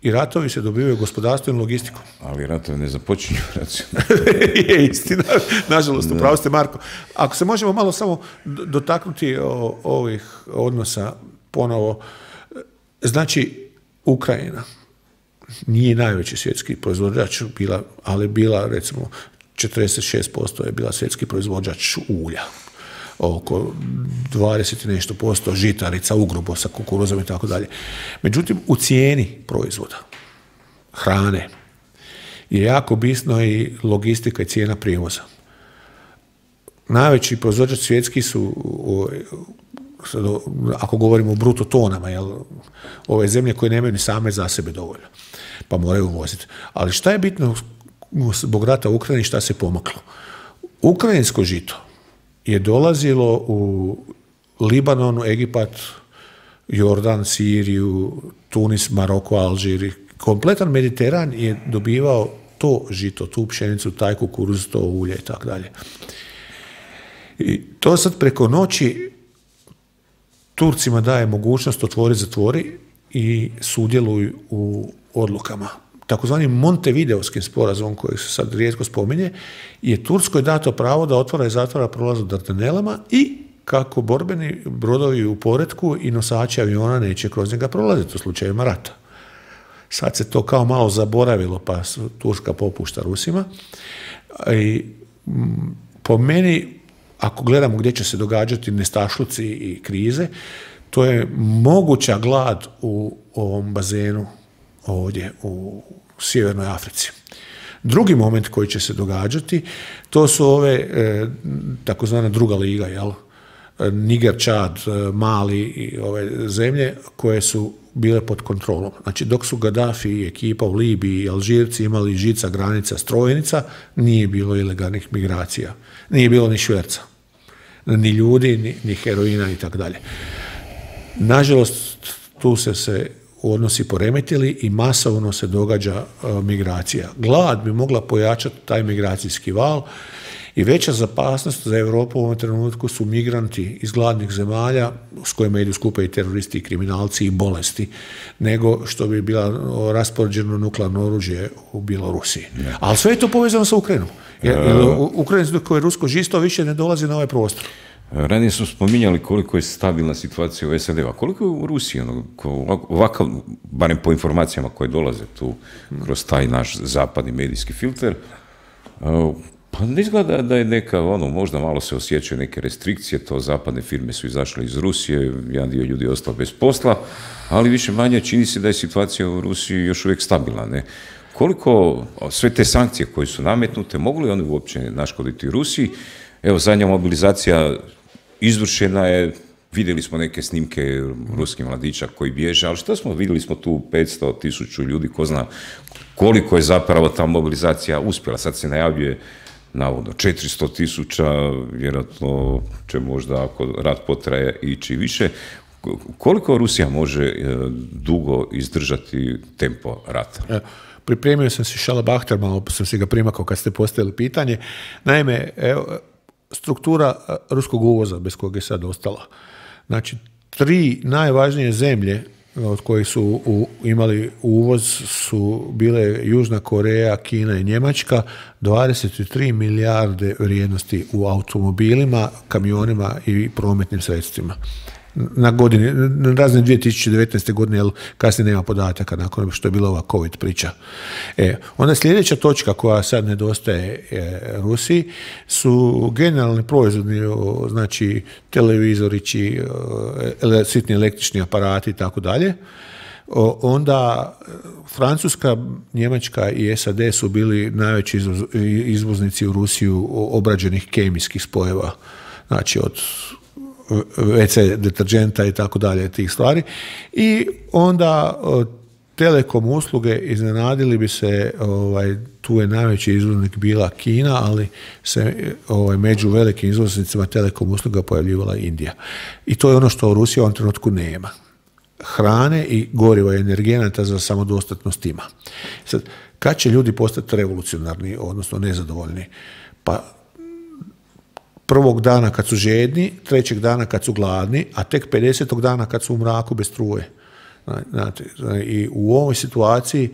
Speaker 3: I ratovi se dobivaju gospodarstvom i logistikom.
Speaker 2: Ali ratovi ne započinju racionalno.
Speaker 3: Je istina. Nažalost, upravo ste, Marko. Ako se možemo malo samo dotaknuti ovih odnosa ponovo. Znači, Ukrajina nije najveći svjetski proizvođač bila, ali bila, recimo, 46% je bila svjetski proizvođač ulja. Oko 20 i nešto posto žitarica, ugrubosa, kukuruzom i tako dalje. Međutim, u cijeni proizvoda, hrane, je jako bitno i logistika i cijena prijevoza. Najveći proizvođač svjetski su, ako govorimo o bruto tonama, ove zemlje koje nemaju ni same za sebe dovoljno, pa moraju uvoziti. Ali šta je bitno zbog rata u Ukrajini, šta se pomaklo? Ukrajinsko žito je dolazilo u Libanon, Egipat, Jordan, Siriju, Tunis, Maroko, Alžir. Kompletan Mediteran je dobivao to žito, tu pšenicu, taj kukuruz, to ulje i tako dalje. I to sad preko noći Turcima daje mogućnost otvori, zatvori i sudjeluju u odlukama. Takozvani Montevideovskim sporazumom koji se sad rijetko spominje, je Turskoj dato pravo da otvara i zatvara prolaz u Dardanelama i kako borbeni brodovi u poretku i nosači aviona neće kroz njega prolaziti u slučajevima rata. Sad se to kao malo zaboravilo, pa Turska popušta Rusima. I po meni, ako gledamo gdje će se događati nestašluci i krize, to je moguća glad u ovom bazenu ovdje u Sjevernoj Africi. Drugi moment koji će se događati, to su ove takozvana druga liga, jel? Niger, Čad, Mali i ove zemlje koje su bile pod kontrolom. Znači, dok su Gaddafi i ekipa u Libiji i Alžirci imali žica, granica, strojnica, nije bilo ilegalnih migracija. Nije bilo ni šverca. Ni ljudi, ni heroina i tako dalje. Nažalost, tu se odnosi poremetili i masovno se događa migracija. Glad bi mogla pojačati taj migracijski val i veća opasnost za Europu u ovom trenutku su migranti iz gladnih zemalja s kojima idu skupa i teroristi, i kriminalci i bolesti, nego što bi bila raspoređeno nuklearno oružje u Bjelorusiji. Ali sve je to povezano sa Ukrajinom. Ukrajinsko koje je rusko žisto više ne dolazi na ovaj prostor.
Speaker 2: Ranije smo spominjali koliko je stabilna situacija u SAD-u, a koliko je u Rusiji, ovakav, barem po informacijama koje dolaze tu kroz taj naš zapadni medijski filter, pa ne izgleda da je neka, možda malo se osjećaju neke restrikcije, to zapadne firme su izašle iz Rusije, jedan dio ljudi je ostao bez posla, ali više manje čini se da je situacija u Rusiji još uvijek stabilna, ne? Koliko sve te sankcije koje su nametnute, mogu li one uopće naškoditi Rusiji? Evo, zadnja mobilizacija izvršena je Vidjeli smo neke snimke ruskih mladića koji bježe, ali što smo vidjeli smo tu 500.000 ljudi, ko zna koliko je zapravo ta mobilizacija uspjela. Sad se najavljuje navodno 400.000, vjerojatno će možda ako rat potraje ići više. Koliko Rusija može dugo izdržati tempo rata?
Speaker 3: Pripremio sam si šalabahter, malo sam si ga primakao kad ste postavili pitanje. Naime, struktura ruskog uvoza bez kojeg je sad ostala. Znači, 3 najvažnije zemlje od kojih su imali uvoz su bile Južna Koreja, Kina i Njemačka, 23 milijarde vrijednosti u automobilima, kamionima i prometnim sredstvima. Na godini, na razne 2019. godine, jer kasnije nema podataka nakon što je bila ova COVID priča. Onda sljedeća točka koja sad nedostaje Rusiji su generalni proizvodni, znači televizorići, sitni električni aparati i tako dalje. Onda Francuska, Njemačka i SAD su bili najveći izvoznici u Rusiju obrađenih kemijskih spojeva, znači od WC deterđenta i tako dalje, tih stvari. I onda telekom usluge, iznenadili bi se, tu je najveći izvoznik bila Kina, ali se među velikim izvoznicima telekom usluga pojavljivala Indija. I to je ono što Rusija u ovom trenutku nema. Hrane i goriva i energenata za samodostatnost ima. Sad, kad će ljudi postati revolucionarni, odnosno nezadovoljni? Pa prvog dana kad su žedni, 3. dana kad su gladni, a tek 50. dana kad su u mraku bez struje. Znate, i u ovoj situaciji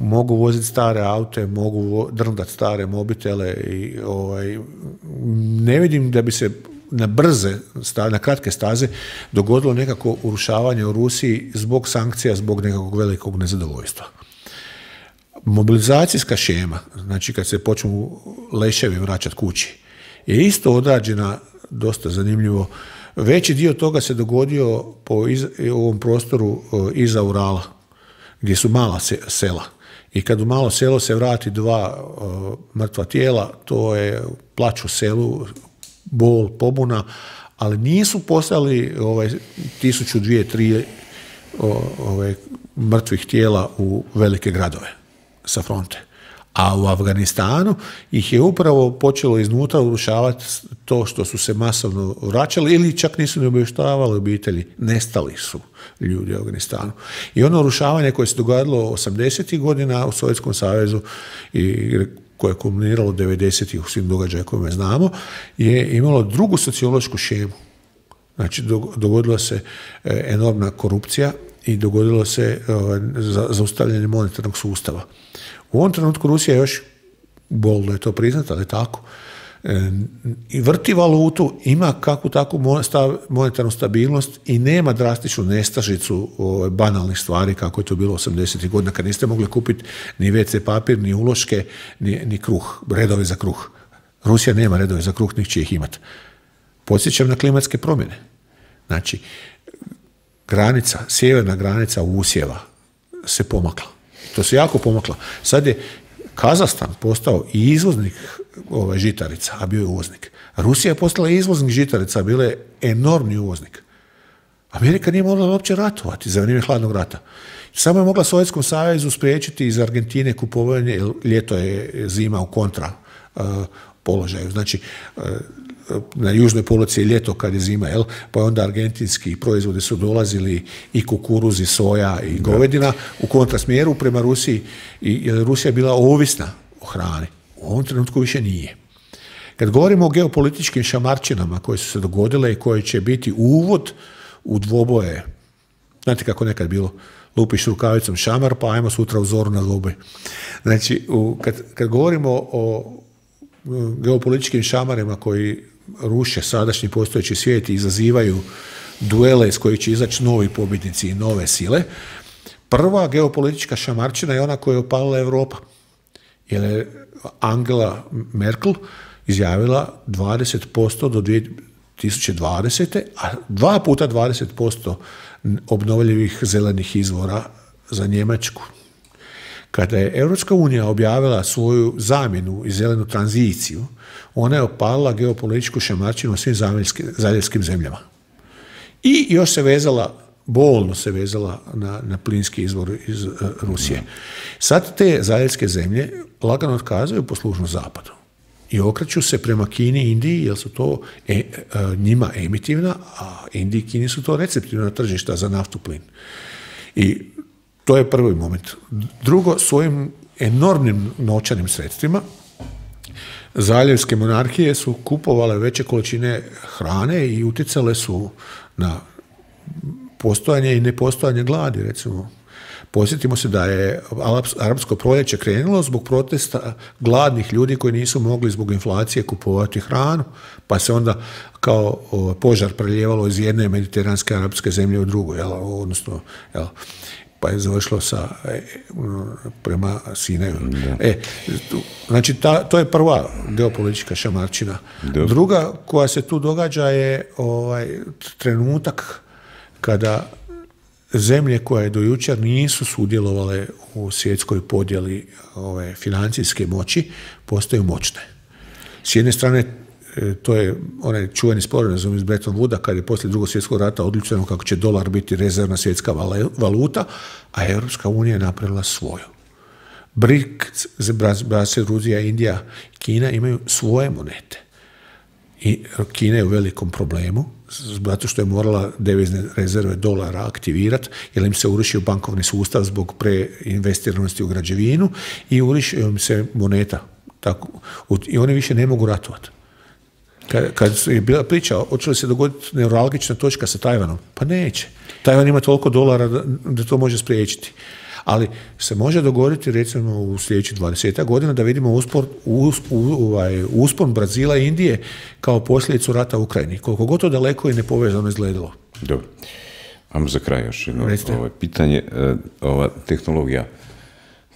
Speaker 3: mogu voziti stare aute, mogu drndati stare mobitele i ne vidim da bi se na brze, na kratke staze dogodilo nekako urušavanje u Rusiji zbog sankcija, zbog nekakvog velikog nezadovoljstva. Mobilizacijska šema, znači kad se počnu leševi vraćati kući, je isto odrađena dosta zanimljivo. Veći dio toga se dogodio po ovom prostoru iza Urala, gdje su mala sela. I kad u malo selo se vrati 2 mrtva tijela, to je plač u selu, bol, pobuna, ali nisu poslali 1000, 2, 3 mrtvih tijela u velike gradove sa fronte. A u Afganistanu ih je upravo počelo iznutra urušavati to što su se masovno vraćali ili čak nisu ne obavještavali obitelji. Nestali su ljudi u Afganistanu. I ono urušavanje koje se dogodilo 80. godina u Sovjetskom savezu i koje je kulminiralo 90. u svim događajima koje znamo, je imalo drugu sociološku šemu. Znači, dogodila se enormna korupcija i dogodilo se zaustavljanje monetarnog sustava. U ovom trenutku Rusija je još, bolno je to priznati, ali tako, i vrti valutu, ima kakvu takvu monetarnu stabilnost i nema drastičnu nestašicu banalnih stvari kako je to bilo 80. godina kad niste mogli kupiti ni WC papir, ni uloške, ni kruh, redove za kruh. Rusija nema redove za kruh, niti će ih imati. Podsjećam na klimatske promjene. Znači, sjeverna granica usjeva se pomakla. To se jako pomaklo. Sad je Kazahstan postao i izvoznik žitarica, a bio je uvoznik. Rusija je postala izvoznik žitarica, a bila je enormni uvoznik. Amerika nije mogla uopće ratovati za vrijeme hladnog rata. Samo je mogla Sovjetskom savezu spriječiti iz Argentine kupovanje, jer ljeto je zima u kontra položaju. Znači, na južnoj polovici je ljeto kad je zima, pa onda argentinski proizvodi su dolazili i kukuruz i soja i govedina u kontrasmjeru prema Rusiji, jer Rusija je bila ovisna o hrani. U ovom trenutku više nije. Kad govorimo o geopolitičkim šamarčinama koje su se dogodile i koje će biti uvod u dvoboje, znate kako nekad bilo, lupiš rukavicom šamar, pa ajmo sutra u zoru na dvoboj. Znači, kad govorimo o geopolitičkim šamarima koji ruše sadašnji postojeći svijet i izazivaju duele iz kojih će izaći novi pobjednici i nove sile, prva geopolitička šamarčina je ona koju je opalila Europa. Jer je Angela Merkel izjavila 20% do 2020. a 2 puta 20% obnovljivih zelenih izvora za Njemačku. Kada je Europska unija objavila svoju zamjenu i zelenu tranziciju, ona je opalila geopolitičku šamarčinu u svim zaljevskim zemljama. I još se vezala, bolno se vezala na plinski izvor iz Rusije. Sad te zaljevske zemlje lagano otkazuju poslušnost zapadu i okreću se prema Kini i Indiji, jer su to njima emitivna, a Indiji i Kini su to receptivna tržišta za naftu, plin. I to je prvi moment. Drugo, svojim enormnim novčanim sredstvima zaljevske monarhije su kupovale veće količine hrane i utjecale su na postojanje i nepostojanje gladi, recimo. Posjetimo se da je arapsko proljeće krenulo zbog protesta gladnih ljudi koji nisu mogli zbog inflacije kupovati hranu, pa se onda kao požar preljevalo iz jedne mediteranske arapske zemlje u drugu, odnosno, pa je završilo prema Sinaju. Znači, to je prva geopolitička šamarčina. Druga koja se tu događa je trenutak kada zemlje koje do jučer nisu sudjelovale u svjetskoj podjeli financijske moći postaju moćne. S jedne strane, to je onaj čuveni sporazum iz Bretton Wooda, kad je poslije Drugog svjetskog rata odlučeno kako će dolar biti rezervna svjetska valuta, a Europska unija je napravila svoju. BRICS, Brazil, Rusija, Indija, Kina imaju svoje monete. I Kina je u velikom problemu, zato što je morala devizne rezerve dolara aktivirati, jer im se urušio bankovni sustav zbog preinvestiranosti u građevinu i urušio im se moneta. I oni više ne mogu ratovati. Kad je bila priča, hoće li se dogoditi neuralgična točka sa Tajvanom? Pa neće. Tajvan ima toliko dolara da to može spriječiti. Ali se može dogoditi, recimo, u sljedećih 20 godina da vidimo uspon Brazila i Indije kao posljedicu rata u Ukrajini. Koliko god to daleko i nepovezano izgledalo.
Speaker 2: Dobro. Ajmo za kraj još jedno pitanje. Ova tehnologija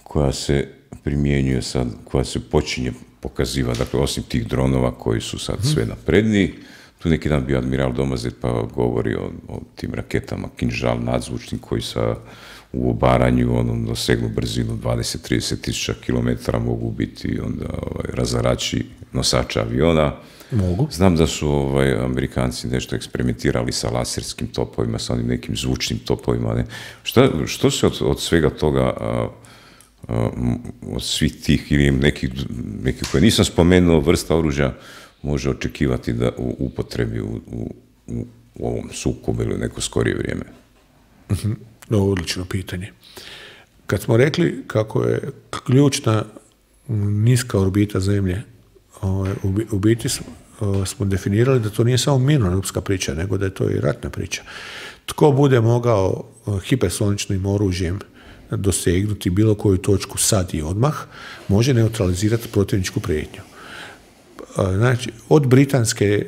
Speaker 2: koja se primjenjuje sad, koja se počinje pokazivati, dakle, osim tih dronova koji su sad sve napredniji, tu neki dan bio admiral Domazet pa govori o tim raketama Kinžal nadzvučnim koji u obaranju dosegnu brzinu 20-30 tisuća kilometara, mogu biti onda razarači nosača aviona.
Speaker 3: Mogu.
Speaker 2: Znam da su Amerikanci nešto eksperimentirali sa laserskim topovima, sa onim nekim zvučnim topovima. Ne? Što se od svega toga, od svih tih ili nekih koje nisam spomenuo vrsta oružja može očekivati da u upotrebi u ovom sukobu ili neko skorije vrijeme?
Speaker 3: Odlično pitanje. Kad smo rekli kako je ključna niska orbita Zemlje, u biti smo definirali da to nije samo mirnodopska priča, nego da je to i ratna priča. Tko bude mogao hipersoničnim oružjem dosegnuti bilo koju točku sad i odmah, može neutralizirati protivničku prijetnju. Znači, od britanske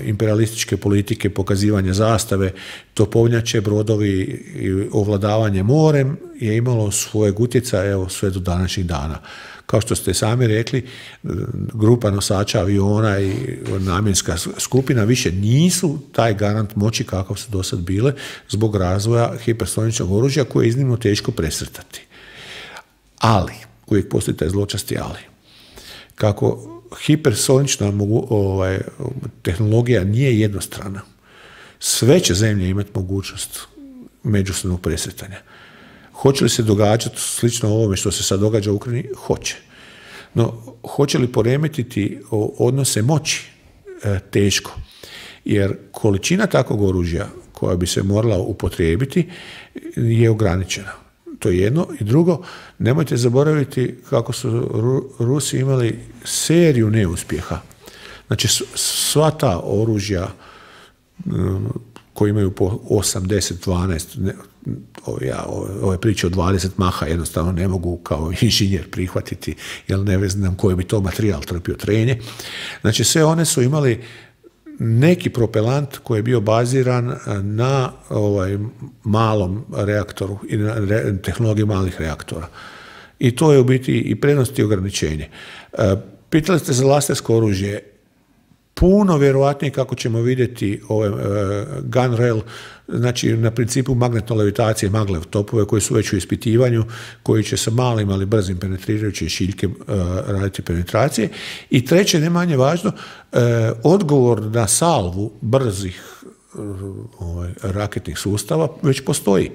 Speaker 3: imperialističke politike pokazivanja zastave, topovnjače, brodovi i ovladavanje morem je imalo svojeg utjecaja sve do današnjih dana. Kao što ste sami rekli, grupa nosača aviona i namjenska skupina više nisu taj garant moći kakav su do sad bile zbog razvoja hipersoničnog oružja koje je iznimno teško presretati. Ali, uvijek postoji taj zločasti ali. Kako hipersonična tehnologija nije jednostrana, sve će zemlje imati mogućnost međusobnog presretanja. Hoće li se događati slično ovome što se sad događa u Ukrajini? Hoće. No, hoće li poremetiti odnose moći? Teško. Jer količina takvog oružja koja bi se morala upotrijebiti je ograničena. To je jedno. I drugo, nemojte zaboraviti kako su Rusi imali seriju neuspjeha. Znači, sva ta oružja koji imaju po 8, 10, 12, ove priče o 20 maha jednostavno ne mogu kao inženjer prihvatiti, jer ne znam koji bi to materijal trpio trenje. Znači, sve one su imali neki propelant koji je bio baziran na malom reaktoru i na tehnologiji malih reaktora. I to je u biti i prednost i ograničenje. Pitali ste za lasersko oružje. Puno vjerojatnije kako ćemo vidjeti ove gun rail, znači na principu magnetno levitacije, maglev topove koji su već u ispitivanju, koji će sa malim ali brzim penetrirajućim šiljke raditi penetracije. I treće, ne manje važno, odgovor na salvu brzih raketnih sustava već postoji.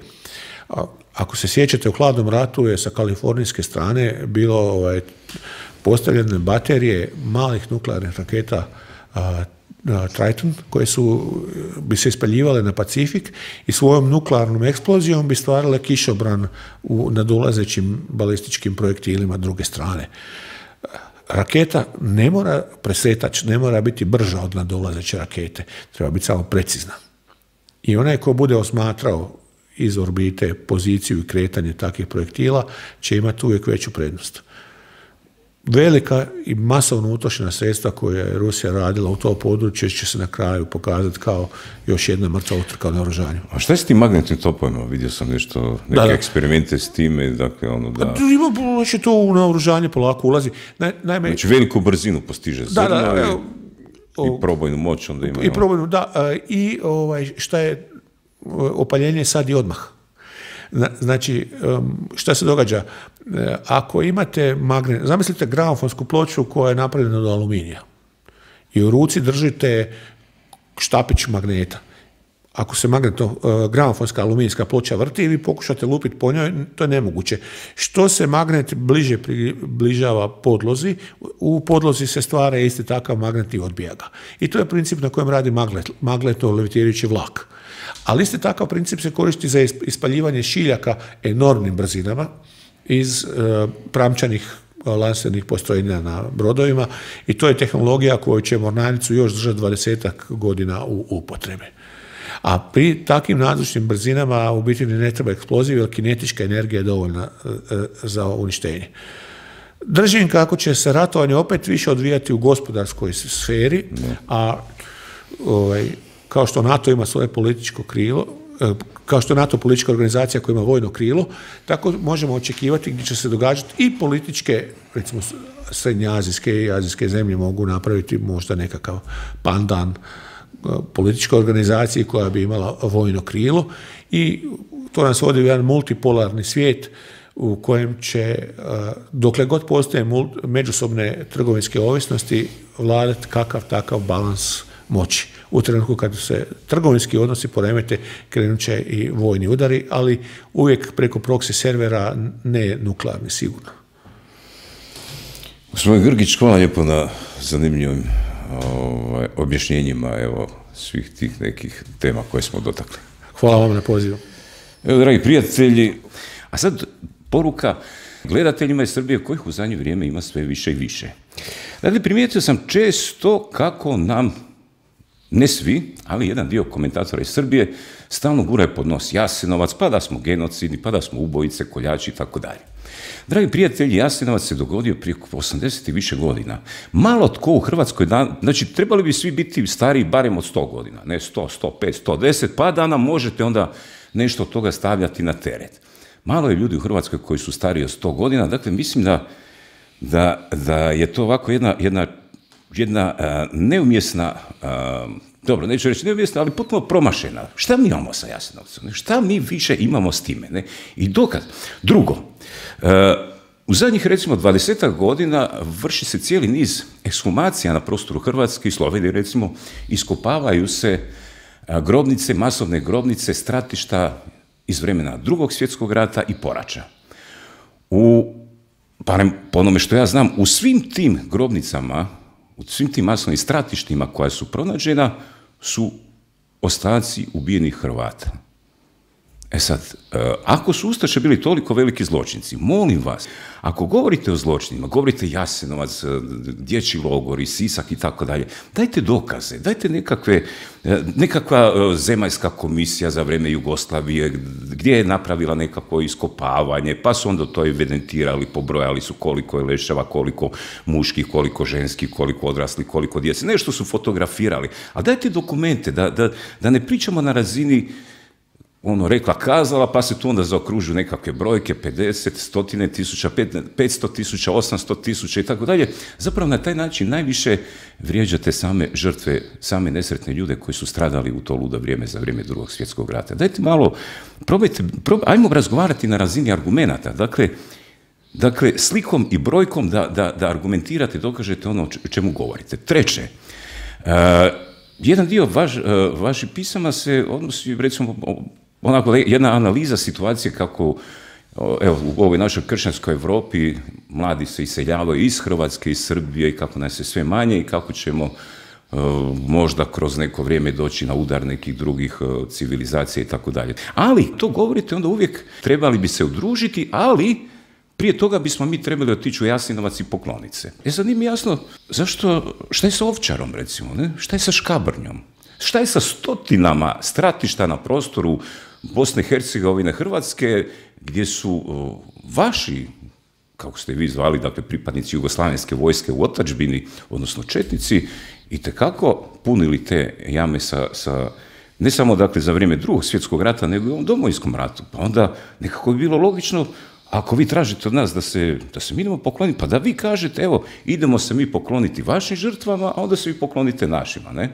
Speaker 3: Ako se sjećate, u hladnom ratu je sa kalifornijske strane bilo postavljene baterije malih nuklearnih raketa Triton, koje bi se ispaljivale na Pacifik i svojom nuklearnom eksplozijom bi stvarile kišobran u nadolazećim balističkim projektilima druge strane. Raketa ne mora presretač, ne mora biti brža od nadolazeće rakete, treba biti samo precizna. I onaj ko bude osmatrao iz orbite poziciju i kretanje takvih projektila će imati uvijek veću prednost. Velika i masovno utrošena sredstva koje je Rusija radila u to područje će se na kraju pokazati kao još jedna mrtva utrka u naoružanju.
Speaker 2: A šta je s tim magnetnim topovima? Vidio sam neke eksperimente s time. Dakle,
Speaker 3: Znači to u naoružanje polako ulazi. Naime,
Speaker 2: znači veliku brzinu postiže zrno i probojnu moć onda ima.
Speaker 3: I probojnu, da. I šta je opaljenje sad i odmah. Znači, šta se događa? Ako imate zamislite gramofonsku ploču koja je napravljena od aluminija i u ruci držite štapić magneta. Ako se gramofonska aluminijska ploča vrti i vi pokušate lupiti po njoj, to je nemoguće. Što se magnet bliže približava podlozi, u podlozi se stvara isti takav magnet i odbija ga. I to je princip na kojem radi magletno levitirajući vlak. Ali isti takav princip se koristi za ispaljivanje šiljaka enormnim brzinama iz pramčanih lansernih postrojenja na brodovima i to je tehnologija koju će mornaricu još držati 20 godina u upotrebi. A pri takvim nadzvučnim brzinama u biti ne treba eksploziv, jer kinetička energija je dovoljna za uništenje. Držim kako će se ratovanje opet više odvijati u gospodarskoj sferi, a kao što NATO ima svoje političko krilo, kao što je NATO politička organizacija koja ima vojno krilo, tako možemo očekivati gdje će se događati i političke, recimo srednjoazijske i azijske zemlje mogu napraviti možda nekakav pandan političkoj organizaciji koja bi imala vojno krilo i to nas vodi u jedan multipolarni svijet u kojem će, dokle god postoje međusobne trgovinske ovisnosti, vladati kakav takav balans moći. U trenutku kad se trgovinski odnosi poremete, krenut će i vojni udari, ali uvijek preko proxy servera, ne nuklearni sigurno.
Speaker 2: Gospodin Grgić, hvala lijepo na zanimljivim objašnjenjima svih tih nekih tema koje smo dotakli.
Speaker 3: Hvala vam na pozivu.
Speaker 2: Evo, dragi prijatelji, a sad poruka gledateljima iz Srbije kojih u zadnje vrijeme ima sve više i više. Dakle, primijetio sam često kako nam, ne svi, ali jedan dio komentatora iz Srbije stalno guraju pod nos Jasenovac, pa da smo genocidi, pa da smo ubojice, koljači i tako dalje. Dragi prijatelji, Jasenovac se dogodio prije 80 i više godina. Malo tko u Hrvatskoj, znači trebali bi svi biti stariji barem od 100 godina, ne 100, 105, 110, pa da nam možete onda nešto od toga stavljati na teret. Malo je ljudi u Hrvatskoj koji su stariji od 100 godina, dakle mislim da je to ovako jedna neumjesna, dobro, neću reći neumjesna, ali potpuno promašena. Šta mi imamo sa Jasenovcem? Šta mi više imamo s time? Ne? I dokaz. Drugo, u zadnjih recimo 20 godina vrši se cijeli niz ekshumacija na prostoru Hrvatske i Slovenije, recimo, iskopavaju se grobnice, masovne grobnice, stratišta iz vremena Drugog svjetskog rata i poraća. Barem po onome što ja znam, u svim tim grobnicama, u svim tim masovnim stratištima koja su pronađena, su ostaci ubijenih Hrvata. E sad, ako su ustaše bili toliko veliki zločinci, molim vas, ako govorite o zločinima, govorite Jasenovac, dječji logori, Sisak i tako dalje, dajte dokaze, dajte nekakva zemaljska komisija za vrijeme Jugoslavije, gdje je napravila nekako iskopavanje, pa su onda to evidentirali, pobrojali su koliko je leševa, koliko muških, koliko ženskih, koliko odraslih, koliko djece, nešto su fotografirali, a dajte dokumente, da ne pričamo na razini rekla kazala, pa se tu onda zaokružuju nekakve brojke, 50, 100 tisuća, 500 tisuća, 800 tisuća i tako dalje. Zapravo na taj način najviše vrijeđate same žrtve, same nesretne ljude koji su stradali u to ludo vrijeme za vrijeme Drugog svjetskog rata. Dajte malo, ajmo razgovarati na razini argumenata. Dakle, slikom i brojkom da argumentirate, dokažete ono o čemu govorite. Treće, jedan dio vaših pisama se odnosi, recimo, onako jedna analiza situacije kako evo, u ovoj našoj kršćanskoj Europi mladi se iseljavaju iz Hrvatske, iz Srbije i kako nas je sve manje i kako ćemo možda kroz neko vrijeme doći na udar nekih drugih civilizacija i tako dalje. Ali, to govorite, onda uvijek trebali bi se udružiti, ali prije toga bismo mi trebali otići u Jasenovac i pokloniti se. Sad nije mi jasno zašto, šta je sa Ovčarom, recimo, ne? Šta je sa Škabrnjom? Šta je sa stotinama stratišta na prostoru Bosne i Hercegovine, Hrvatske, gdje su vaši, kako ste vi zvali, dakle pripadnici jugoslavenske vojske u otadžbini, odnosno četnici, itekako punili te jame sa ne samo dakle za vrijeme Drugog svjetskog rata, nego i u ovom Domovinskom ratu. Pa onda nekako bi bilo logično, ako vi tražite od nas da se mi idemo pokloniti, pa da vi kažete, evo, idemo se mi pokloniti vašim žrtvama, a onda se vi poklonite našima, ne?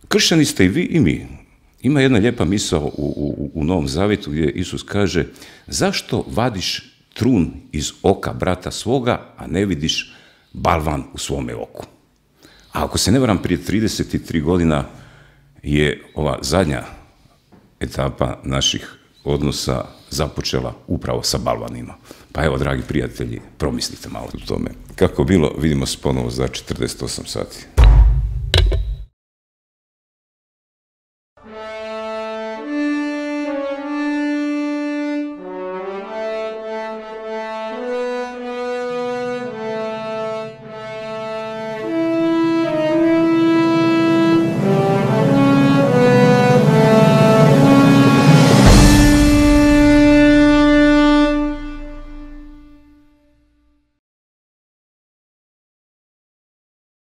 Speaker 2: Kršćani ste i vi i mi. Ima jedna lijepa misao u Novom Zavjetu gdje Isus kaže: zašto vadiš trun iz oka brata svoga, a ne vidiš balvan u svome oku? A ako se ne varam, prije 33 godina je ova zadnja etapa naših odnosa započela upravo sa balvanima. Pa evo, dragi prijatelji, promislite malo o tome. Kako bilo, vidimo se ponovo za 48 sati.